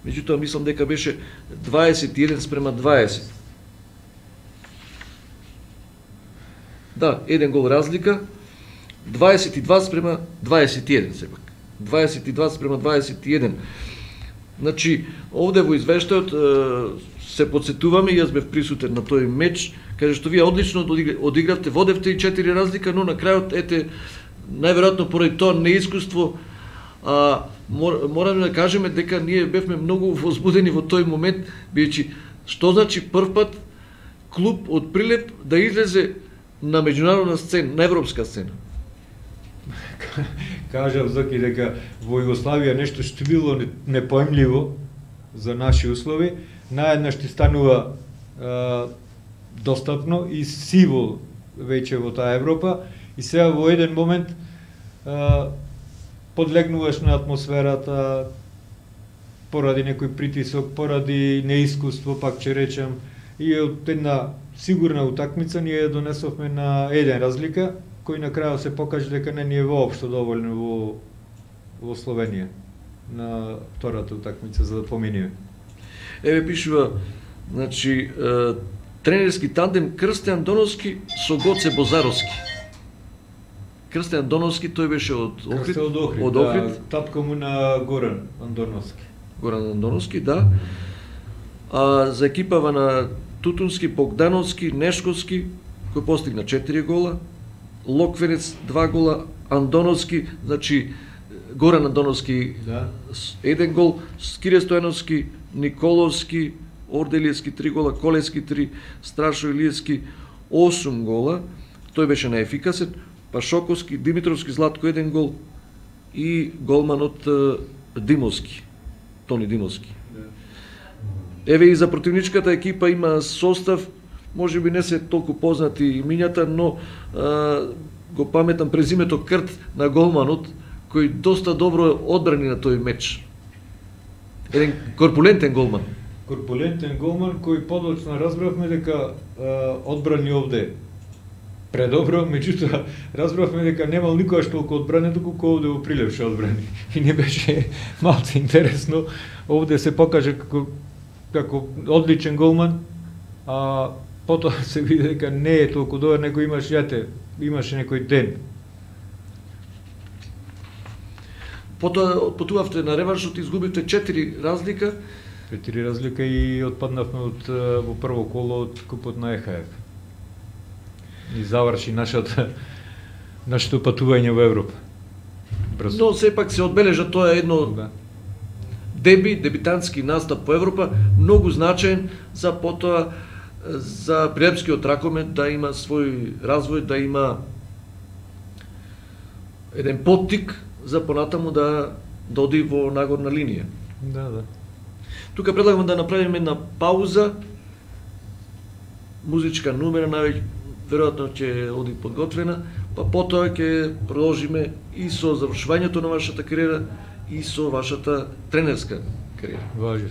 меѓутоа мислам дека беше 21:20. Да, еден гол разлика, 22:21 сепак. 22:21. Значи, овде во извештајот се подсетуваме, јас бев присутен на тој меч, каде што вие одлично одигравте, водевте и 4 разлика, но на крајот, ете, најверојатно поради тоа неискуство, мораме да кажеме дека ние бевме многу возбудени во тој момент, бидејќи што значи прв пат клуб од Прилеп да излезе на меѓународна сцена, на европска сцена. Кажав Зоки дека во Југославија нешто што било непоемливо за наши услови, наеднаш ти станува достапно и сиво веќе во таа Европа и сега во еден момент подлегнуваш на атмосферата поради некој притисок, поради неискуство, пак ќе речем, и од една сигурна утакмица ние ја донесовме на еден разлика, кој на крајот се покаже дека не ни е воопшто доволно во Словенија на втората утакмица за да поминиме. Еве пишува, значи, тренерски тандем Крстјан Доновски со Гоце Бозаровски. Крстјан Доновски, тој беше од Охрид. Од Охрид. Да, татко му на Горан Андоновски. Горан Андоновски, да. А за екипава на Тутунски, Богдановски, Нешковски, кој постигна 4 гола, Локвенец 2 гола, Андоновски, значи Горан Андоновски 1 гол, Скире Стојановски, Николовски, Орделиевски 3 гола, Колески 3, Страшо Илиевски 8 гола, тој беше наефикасен, Пашоковски, Димитровски, Златко 1 гол и голманот Димовски, Тони Димовски. Еве и за противничката екипа има состав, може би не се толку познати имињата, но го паметам презимето Крт на голманот, кој доста добро одбрани на тој меч. Еден корпулентен голман. Корпулентен голман кој подоцна разбравме дека одбрани овде предобро, меѓутоа разбравме дека немал никогаш толку одбране колку овде во Прилеп што одбрани. И не беше малку интересно, овде се покаже како одличен голман, а потоа се види дека не е толку добар, него имаше некој ден. Потоа отпатувавте на реваншот, изгубивте 4 разлика. 4 разлика и отпаднавме во прво коло од купот на ЕХФ. И заврши нашето патување во Европа. Брзо. Но сепак се одбележа тоа едно дебитантски настап по Европа, многу значаен за потоа за Прилепскиот ракомет да има свој развој, да има еден поттик за понатаму да оди во нагорна линија. Да. Тука предлагам да направиме една пауза, музичка numera, веројатно ќе оди подготвена, па потоа ќе продолжиме и со завршувањето на вашата кариера и со вашата тренерска кариера. Важи.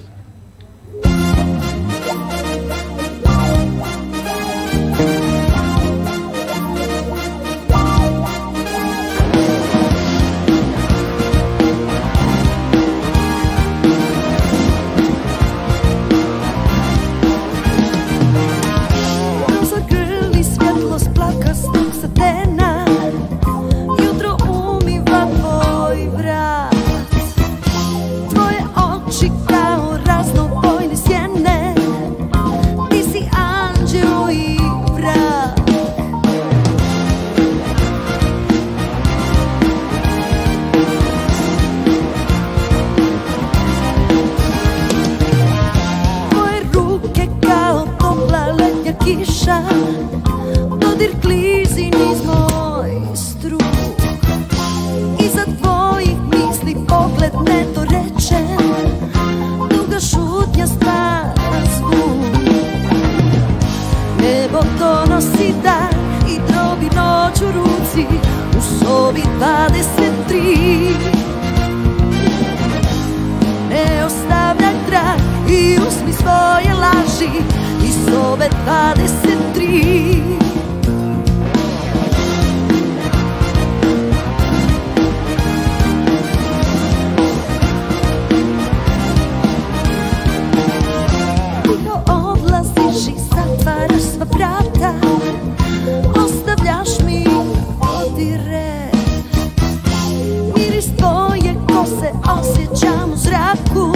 osjećam u zraku,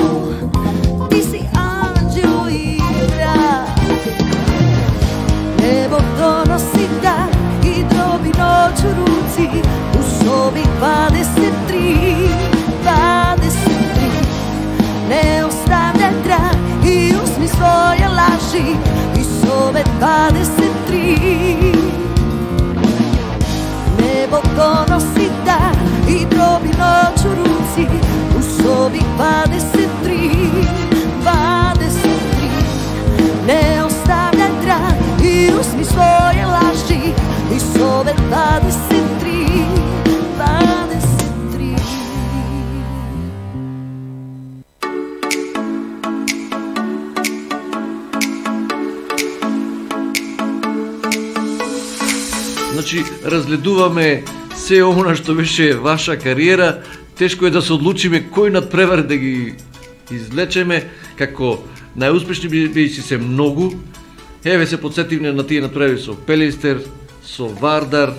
ti si anđeo i mrak. Nebo donosi dan i drobi noć u ruci, u sobi 23, 23. Ne ostavljaj trag i uzmi svoje laži iz sobe 23. Nebo donosi dan i drobi noć u ruci, u sobi 23, 23. Ne ostavljaj trag i uzmi svoje laži iz sobe 23, 23. Значи, разгледуваме се она што беше ваша кариера, тешко е да се одлучиме кој надпревар да ги извлечеме, како најуспешни беше се многу. Еве се подсетивме на тие надпревари со Пелистер, со Вардар,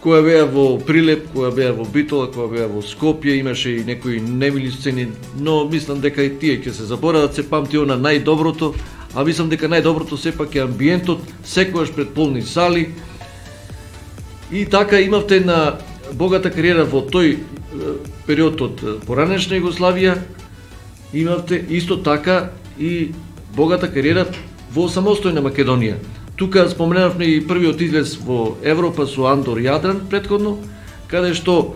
која беа во Прилеп, која беа во Битола, која беа во Скопје, имаше и некои немили сцени, но мислам дека и тие ќе се заборават, се памти она најдоброто, а мислам дека најдоброто сепак е амбиентот, секогаш пред полни сали. И така имавте на богата кариера во тој период од поранешна Југославија, имавте исто така и богата кариера во самостојна Македонија. Тука споменавме и првиот излез во Европа со Андор Јадран претходно, каде што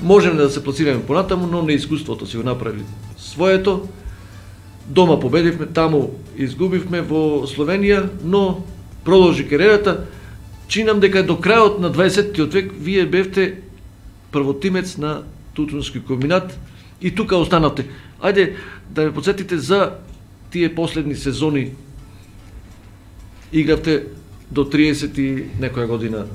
можеме да се пласираме понатаму, но неискуството си го направи своето. Дома победивме, таму изгубивме во Словенија, но продолжи кариерата. Чинам дека до крајот на 20-тиот век вие бевте првотимец на Тутунски комбинат и тука останавте. Ајде да ме подсетите за тие последни сезони. Игравте до 30 и некоја година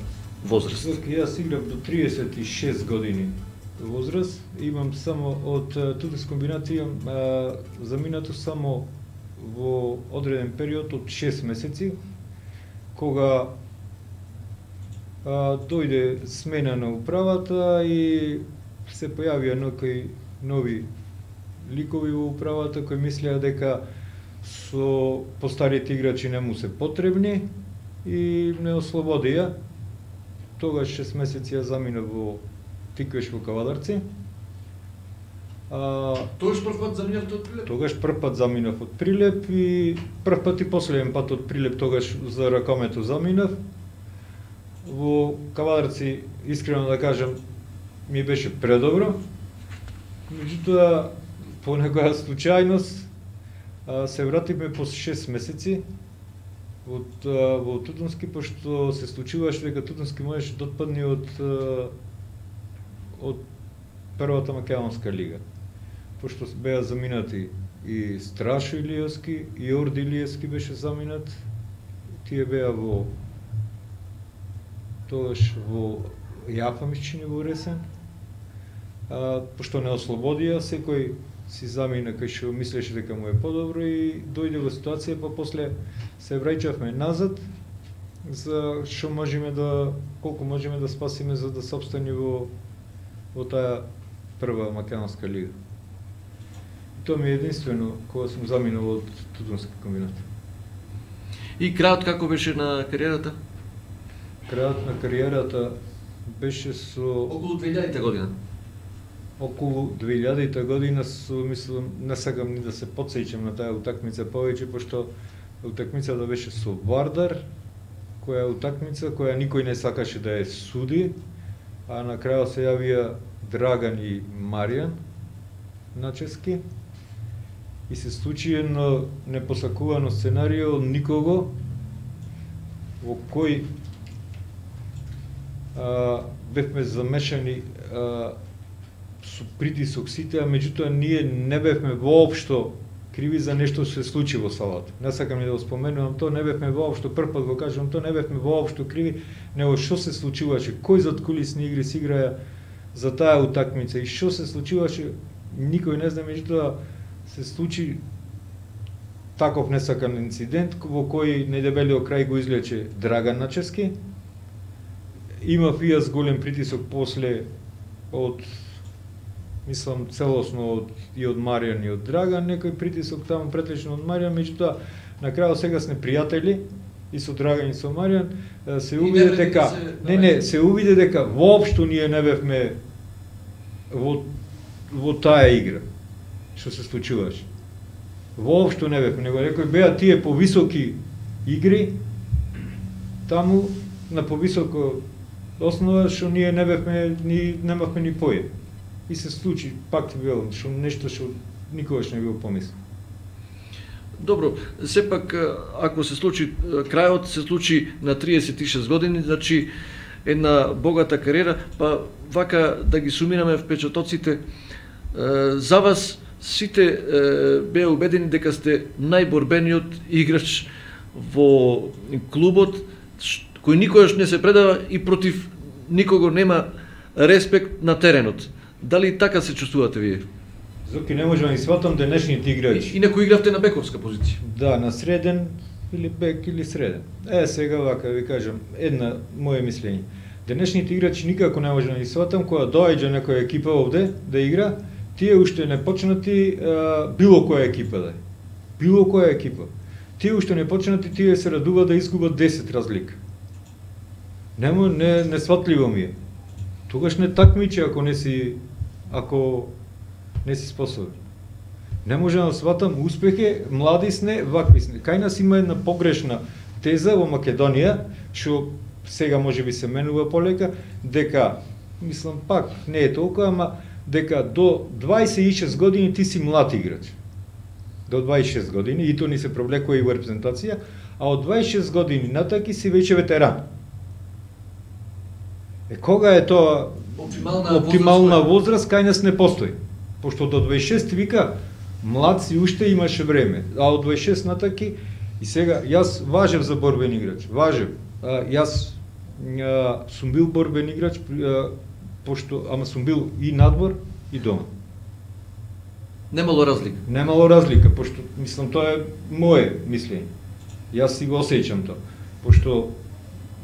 возраст. Јас играв до 36 години возраст. Имам само од Тутунски комбинат имам заминато само во одреден период од 6 месеци, кога дојде смена на управата и се појавија некои нови ликови во управата кои мислеа дека со постарите играчи не му се потребни и не ослободија. Тогаш 6 месеци ја замина во Тиквеш во Кавадарци. Тогаш прв пат заминав од Прилеп? Тогаш прв пат заминав од Прилеп и прв пат и последен пат од Прилеп тогаш за ракомето заминав. Во Кавадарци, искрено да кажам, ми беше предобро. Меѓутоа, по некоја случајност, се вративме по 6 месеци во Тутунски, пошто се случуваше дека Тутунски можеше да отпадне од првата македонска лига. Пошто беа заминати и Страшо Илиевски, и Орди Илиевски беше заминат. Тие беа тогаш во Јафа мисчини во Ресен. Пошто не ослободија, секој си замина кај што мислеше дека му е подобро и дојде во ситуација, па после се враќавме назад за што можеме да, колку можеме да спасиме за да се опстани во таа прва македонска лига. Тоа ми е единствено кога сум заминал од Тутунски комбинат. И крајот како беше на кариерата? Крајот на кариерата беше со околу 2000 година. Околу 2000 година мислам, не сакам ни да се потсеќам на таа утакмица повеќе, пошто утакмицата беше со Вардар, која утакмица која никој не сакаше да ја суди, а на крајот се јавија Драган и Маријан Начески и се случи едно непосакувано сценарио никого во кој бевме замешани со притисок сите, а меѓутоа ние не бевме воопшто криви за нешто што се случи во салата. Не сакам ни да го споменувам тоа, не бевме воопшто, прв пат го кажувам тоа, не бевме воопшто криви, него што се случуваше, кои задкулисни игри се играја за таа утакмица и што се случуваше, никој не знае, меѓутоа се случи таков несакан инцидент во кој најдебелиот крај го излече Драган Начески. Имав и јас голем притисок после од мислам целосно и од Маријан и од Драган, некој притисок таму претлично од Маријан, меѓутоа на крајот сега сме пријатели и со Драган и со Маријан, се увиде дека се увиде дека воопшто ние не бевме во таа игра што се случуваше. Воопшто не бевме, него некој беа тие повисоки игри таму на повисоко основа што ние не бевме немавме ни поја. И се случи пак велам што нешто што никогаш не бил помислил. Добро, сепак ако се случи крајот се случи на 36 години, значи една богата кариера, па вака да ги сумираме впечатоците, за вас сите беа убедени дека сте најборбениот играч во клубот, кој никогаш не се предава и против никого нема респект на теренот. Дали така се чувствувате вие? Зоки не можам да сватам денешните играчи. Инаку игравте на бековска позиција. Да, на среден или бек или среден. Сега вака ви кажам, една моје мислење. Денешните играчи никако не можам да ги сватам, кога доаѓа некоја екипа овде да игра, тие уште не почнати било која екипа да е. Било која екипа. Тие уште не почнати, тие се радува да изгубат 10 разлика. Не сватливо ми е. Тогаш не такмичи ако не си способен. Не можам да сватам успехи, млади сне, вакви сне. Кај нас има една погрешна теза во Македонија, што сега може би се менува полека, дека, мислам пак, не е толкова, ама дека до 26 години ти си млад играч. До 26 години, и то ни се провлекува и во репрезентација, а од 26 години натаки си веќе ветеран. Кога е тоа оптимална возраст, кај нас не постои. Пошто до 26 вика, млад си уште имаше време, а од 26 натаки, и сега, јас важев за борбен играч, важев. Јас сум бил борбен играч, ама сум бил и надвор, и дома. Немало разлика? Немало разлика, пошто, мислам, тоа е моје мислење. Јас си го осеќам тоа, пошто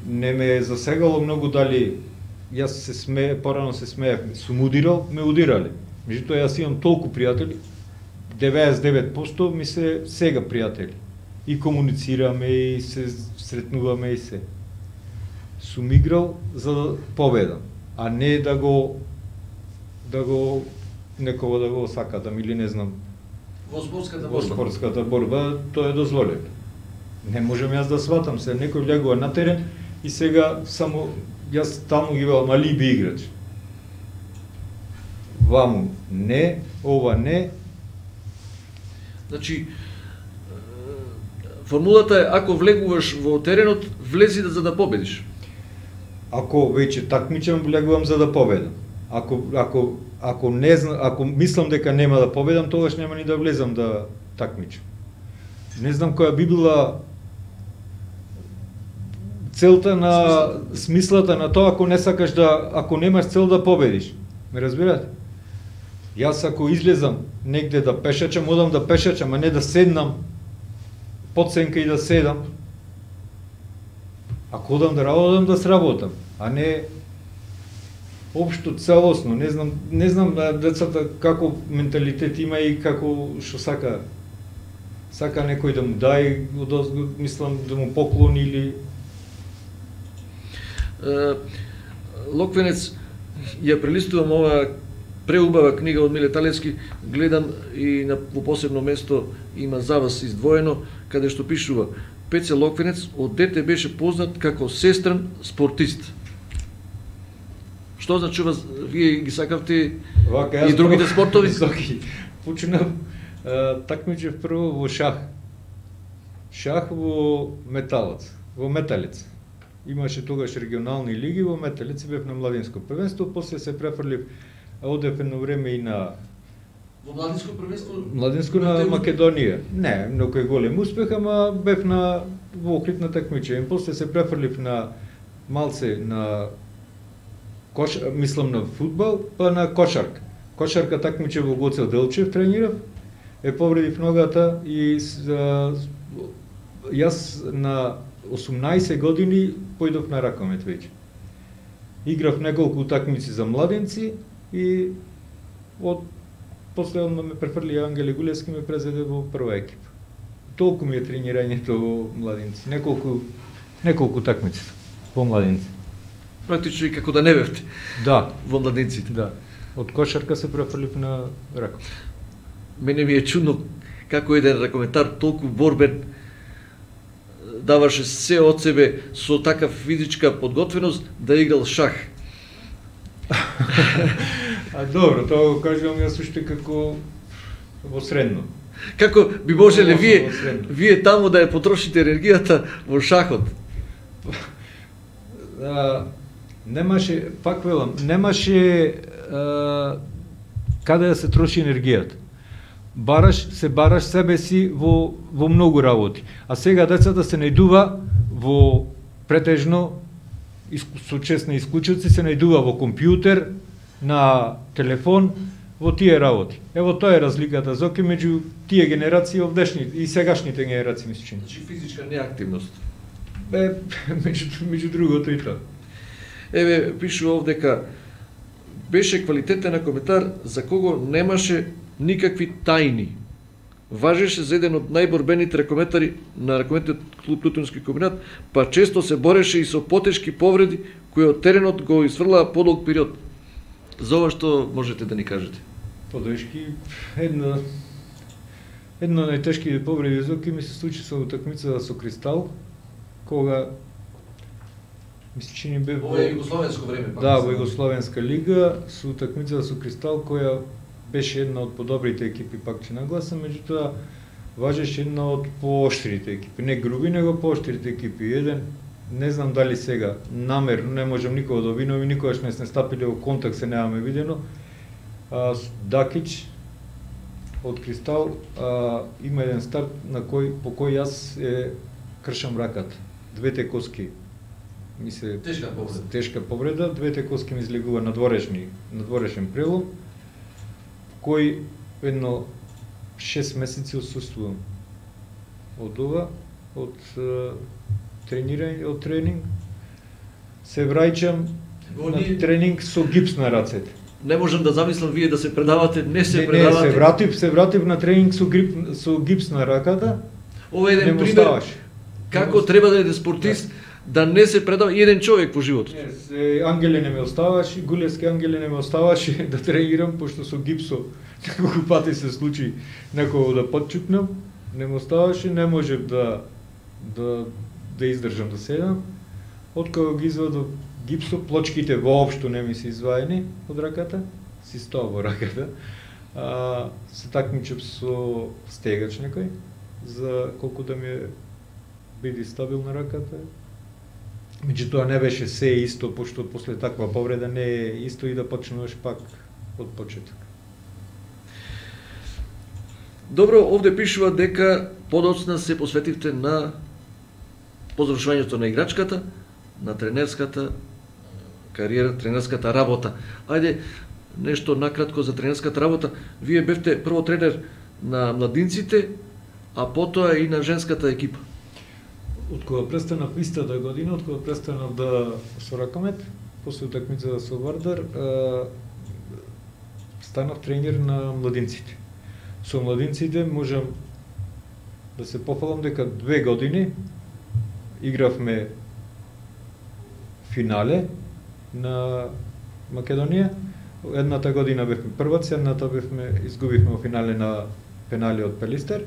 не ме е засегало многу дали, јас порано се смеев, сум удирал, ме удирали. Меѓутоа, јас имам толку пријатели, 99% ми се сега пријатели. И комуницираме, и се сретнуваме, и се. Сум играл за да победам, а не да го некого да го сакатам или не знам. Во спортската борба. Во спортската борба тоа е дозволено. Не можам јас да сватам се, некој влегува на терен и сега само јас таму ги велам алиби играч. Ваму не, ова не. Значи, формулата е, ако влегуваш во теренот, влези за да победиш. Ако веќе такмичам, влегувам за да победам. Ако не знам, ако мислам дека нема да победам, тогаш нема ни да влезам да такмичам. Не знам која би била целта на смислата на тоа ако не сакаш ако немаш цел да победиш. Ме разбирате? Јас ако излезам негде да пешачам, одам да пешачам, а не да седнам под сенка и да седам. Ако одам да работам, да сработам, а не општо целосно. Не знам децата како менталитет има и како што сака некој да му дај, мислам да му поклони или Локвенец, ја прелистувам ова преубава книга од Миле Талевски, гледам и во посебно место има за вас издвоено, каде што пишува: Пеце Локвенец од дете беше познат како сестран спортист. Што значува, вие ги сакавте и другите спортови? Почнав такмичев прво во шах. Шах во металец. Имаше тогаш регионални лиги во металец, бев на младинско првенство, после се префрлив, одев едно време и на во младинско првенство? Младинско на Македонија. Не, многу е голем успех, ама бев во окритна такмичење. После се префрлив на малце на мислам на фудбал, па на кошарка. Кошарка такмиче во Гоце Делчев тренирав, повредив ногата и јас на 18 години појдов на ракомет веќе. Играв неколку такмици за младенци и после ме префрли Ангели Гулевски, ме презеде во прва екипа. Толку ми е тренирањето во младинци, неколку такмици во младинци. Практично и како да не бевте. Да, во младинците. да. Од кошарка се префрлив на раков. Мене ми е чудно како еден ракометар толку борбен даваше се од себе со такав физичка подготвеност да играл шах. Добро, тоа го кажувам јас уште како во средно. Како би можеле Во средно. вие таму да ја потрошите енергијата во шахот? Немаше, пак велам, немаше каде да се троши енергијата. Се бараш себе си во многу работи. А сега децата се најдува во претежно со честни исклучоци, се најдува во компјутер, на телефон, во тие работи. Ево тоа е разликата зоки меѓу тие генерации овдешните и сегашните генерации, ми се чини. Значи физичка неактивност. Меѓу другото и тоа. Еве пишува овдека беше квалитетен коментар за кого немаше никакви тајни. Важеше за еден од најборбените ракометари на ракометниот клуб Лутонски комбинат, па често се бореше и со потешки повреди кои од теренот го изфрлаа подолг период. За ова што можете да ни кажете? Подешки, една од најтешките повреди зоки ми се случи со утакмица со Кристал, кога ми се чини бе Ова е југословенско време. Да, во Југословенска лига, со утакмица со Кристал, која беше една од подобрите екипи, пак ќе нагласам, меѓутоа важеше една од пооштрите екипи, не груби, него пооштрите екипи. Еден, не знам дали сега, намерно, не можам никога да обвинувам и никогаш не сме стапили во контакт, се немаме видено. Дакич од Кристал има еден старт по кој јас кршам раката. Двете коски ми се тешка повреда, двете коски ми излегува надворешен прелом, кој едно 6 месеци отсуствувам од ова, од тренинг, се враќам на тренинг со гипс на рацете. Не можам да замислам вие да се предавате, не се предавате. Не, се вратив на тренинг со гипс на раката. Ова е еден пример како треба да е спортист да не се предава еден човек во животот. Ангеле не ме оставаше, Гулевски Ангеле не ме оставаше да тренирам, пошто со гипсо неколку пати се случи некој да подчупнам, не ме оставаше, не можев да издржам да седам. Откога ги извадов гипсо, плочките воопшто не ми се изваени од раката, си стоа во раката. Се такмичев со стегач некој, за колку да ми биде стабилна раката. Меѓутоа не беше се исто, пошто после таква повреда не е исто и да почнуваш пак од почеток. Добро, овде пишува дека подоцна се посветивте на по завршувањето на играчката, на тренерската кариера, тренерската работа. Ајде, нешто накратко за тренерската работа. Вие бевте прво тренер на младинците, а потоа и на женската екипа. Од кога престанав истата година, од кога престанав со ракомет, после утакмица со Вардар, станав тренер на младинците. Со младинците можам да се пофалам дека 2 години игравме финале на Македонија. Едната година бевме прваци, едната изгубивме во финале на пенали од Пелистер.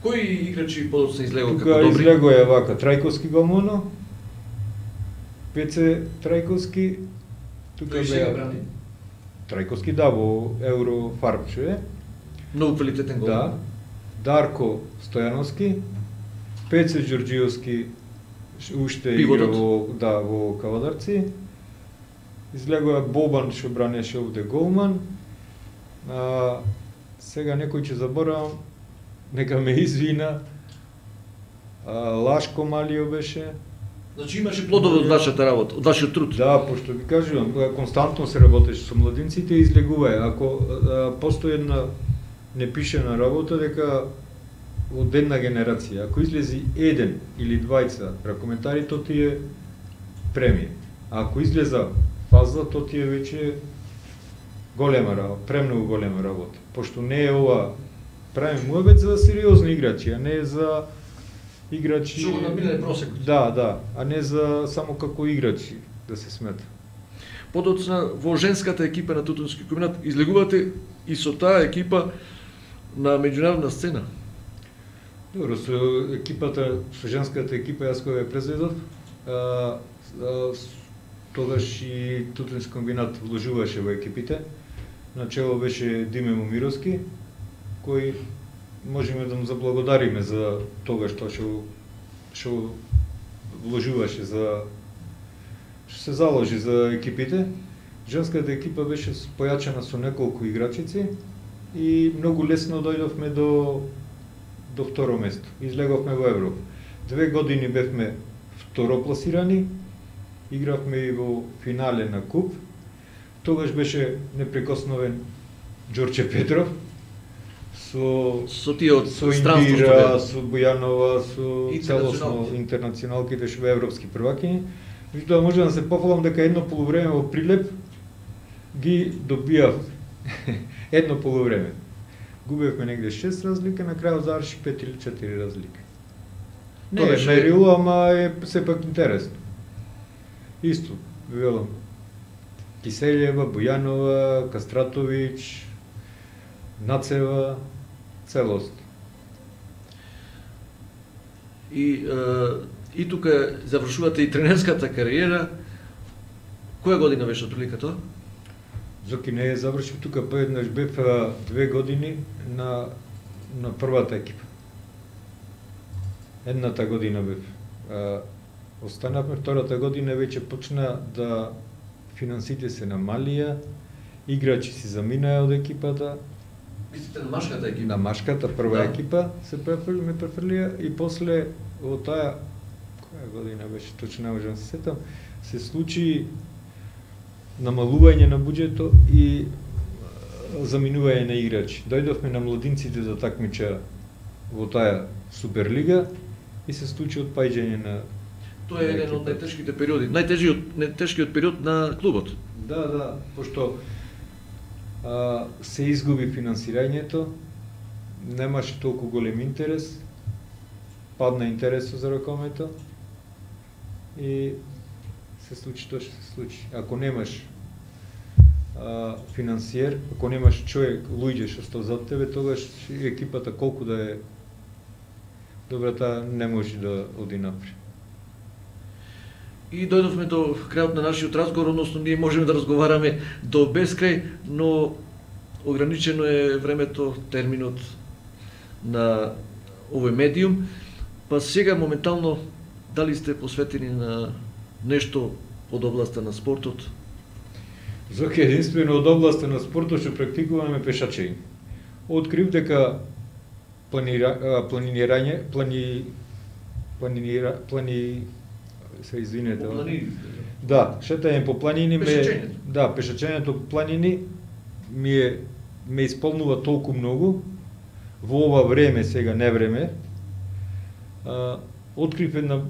Кои играчи подоцна излегоа како добри? добри? Излегоа вака Трајковски голмано, Пеце Трајковски, тука беа Трајковски во Еврофарм што е. Многу квалитетен гол. Да. Дарко Стојановски, Пеце Ѓорѓиевски уште игра во Кавадарци. Излегоа Бобан што бранеше овде голман. Сега некој ќе заборавам, нека ме извина. Лашко Малио беше. Значи имаше плодови од вашата работа, од вашиот труд. Да, пошто ви кажувам, константно се работеше со младинците и излегуваe. Ако постои една непишена работа дека од една генерација, ако излези еден или двајца ракоментари, то ти е премија. А ако излеза фаза, то ти е веќе голема работа, премногу голема работа. Пошто не е ова, правим муабет за сериозни играчи, а не за играчи... Што го набиле просекот. Да, а не за само како играчи да се смета. Подоцна во женската екипа на Тутунски комбинат излегувате и со таа екипа на меѓународна сцена. Добро, со екипата, со женската екипа јас кога ја презедов, тогаш и Тутунски комбинат вложуваше во екипите. Начело беше Диме Момировски, кој можеме да му заблагодариме за тогаш тоа што вложуваше за што се заложи за екипите. Женската екипа беше појачена со неколку играчици и многу лесно дојдовме до второ место. Излеговме во Европа. 2 години бевме второпласирани, игравме и во финале на куп. Тогаш беше непрекосновен Ѓорче Петров со тие од странство Индира, со Бојанова, со целосно интернационалките што беа европски првакини. Меѓутоа може да се пофалам дека едно полувреме во Прилеп ги добиав едно полувреме. Губевме негде 6 разлика, на крајот заврши 5 или 4 разлика. Не е мерило, ама е сепак интересно. Исто, велам, Киселјева, Бојанова, Кастратовиќ, Нацева, целост. И тука завршувате и тренерската кариера. Која година беше отприлика тоа? Зоки не е завршив тука, поеднаш бев 2 години на првата екипа. Едната година бев. Останавме, втората година веќе почна да финансите се намалија, играчи си заминаа од екипата. Мислите на машката екипа? На машката, прва екипа се ме префрлија и после во таа која година беше, точно не можам се сетам, се случи намалување на буџето и заминување на играчи. Дојдовме на младинците да такмича во таа Суперлига и се случи отпаѓање на... Тоа е еден од најтешките периоди, најтешкиот период на клубот. Да, пошто се изгуби финансирањето, немаше толку голем интерес, падна интересот за ракомето и се случи тоа што се случи. Ако немаш финансиер, ако немаш човек, луѓе што стои зад тебе, тогаш екипата колку да е добра, таа не може да оди напред. И дојдовме до крајот на нашиот разговор, односно ние можеме да разговараме до бескрај, но ограничено е времето, терминот на овој медиум. Па сега моментално дали сте посветени на нешто од областа на спортот? Зоки, единствено од областа на спортот што практикуваме пешачење. Открив дека шетање по планини пешачењето по планини ме исполнува толку многу во ова време, сега не време. Открив една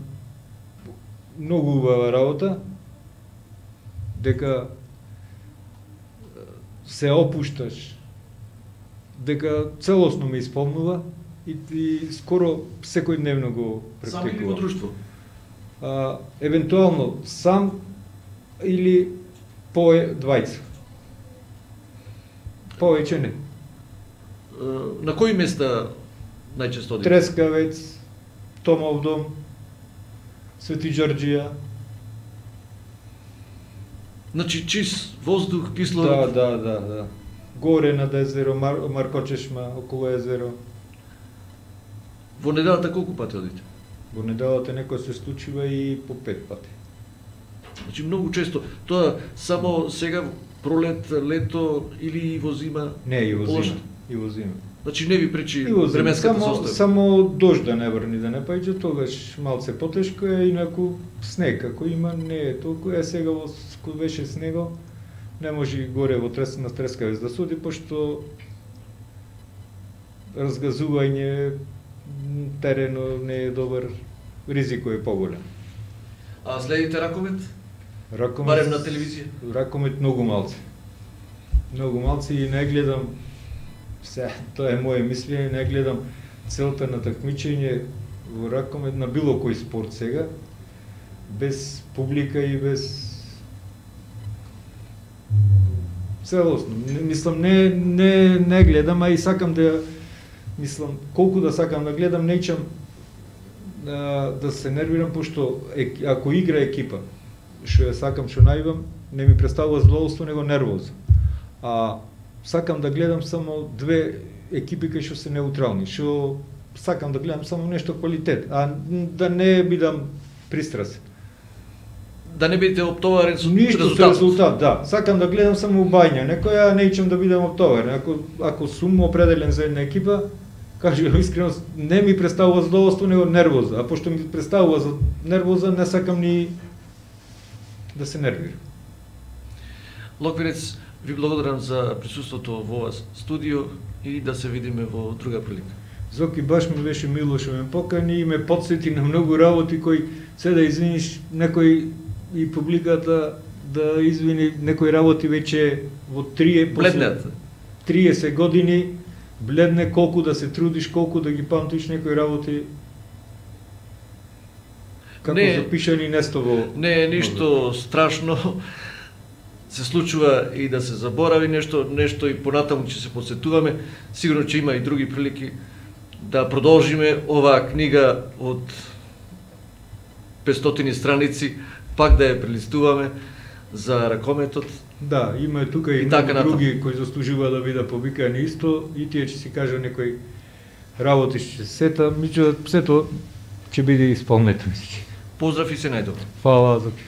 многу убава работа, дека се опушташ, дека целосно ме исполнува и скоро секојдневно го практикувам. Сам или во друштво? Евентуално сам или по двајца. Повеќе не. На кои места најчесто одите? Трескавец, Томов дом, Свети Ѓорѓија. Значи чист воздух, кислород. Да. Горе над езеро, Маркочешма, околу езеро. Во неделата колку пати одите? Во неделата некој се случува и по 5 пати. Значи многу често. Тоа само сега пролет, лето или во зима? Не, и во зима. Значи не ви пречи временската состава? Само дожд да не врни, да не паѓа, тогаш малце потешко е, инаку снег, ако има, не е толку. Сега кога беше снего, не може горе во на Трескавец да суди, пошто разгазување, терено не е добар, ризико е поголем. А следите Раковет? Барем на телевизија? Раковет многу малце. многу малци и не гледам, тоа е моје мислење, не гледам целта на такмичење во ракомет на било кој спорт сега, без публика и без целосно. Мислам, не гледам, а и сакам да, мислам, колку да сакам да гледам, неќам да се нервирам, пошто ако игра екипа, што ја сакам, што најбам, не ми представува задоволство, него нервоза. А сакам да гледам само две екипи кои што се неутрални, што сакам да гледам само нешто квалитет, а да не бидам пристрасен. Да не бидете оптоварен со резултат. Со резултат, да. Сакам да гледам само убања, некој ја неќам да бидам оптоварен. Ако сум определен за една екипа, кажувам искрено, не ми представува задоволство, него нервоза. А пошто ми представува за нервоза, не сакам ни да се нервирам. Локвинец, ви благодарам за присуството во ова студио и да се видиме во друга прилика. Зоки, баш ми беше мило што ме покани и ме подсети на многу работи кои се да извиниш некој и публиката да извини некои работи веќе во 30 години бледне, колку да се трудиш, колку да ги памтиш некои работи како запишани нестово. Не е ништо страшно. Се случува и да се заборави нешто и понатаму ќе се подсетуваме. Сигурно ќе има и други прилики да продолжиме оваа книга од 500 страници, пак да ја прелистуваме за ракометот. Да, има тука и други кои заслужува да бидат повикани исто, и тие ќе си кажа некои работи што се сета, меѓутоа сето ќе биде исполнето. Поздрав и се најдобро. Фала, Зоки.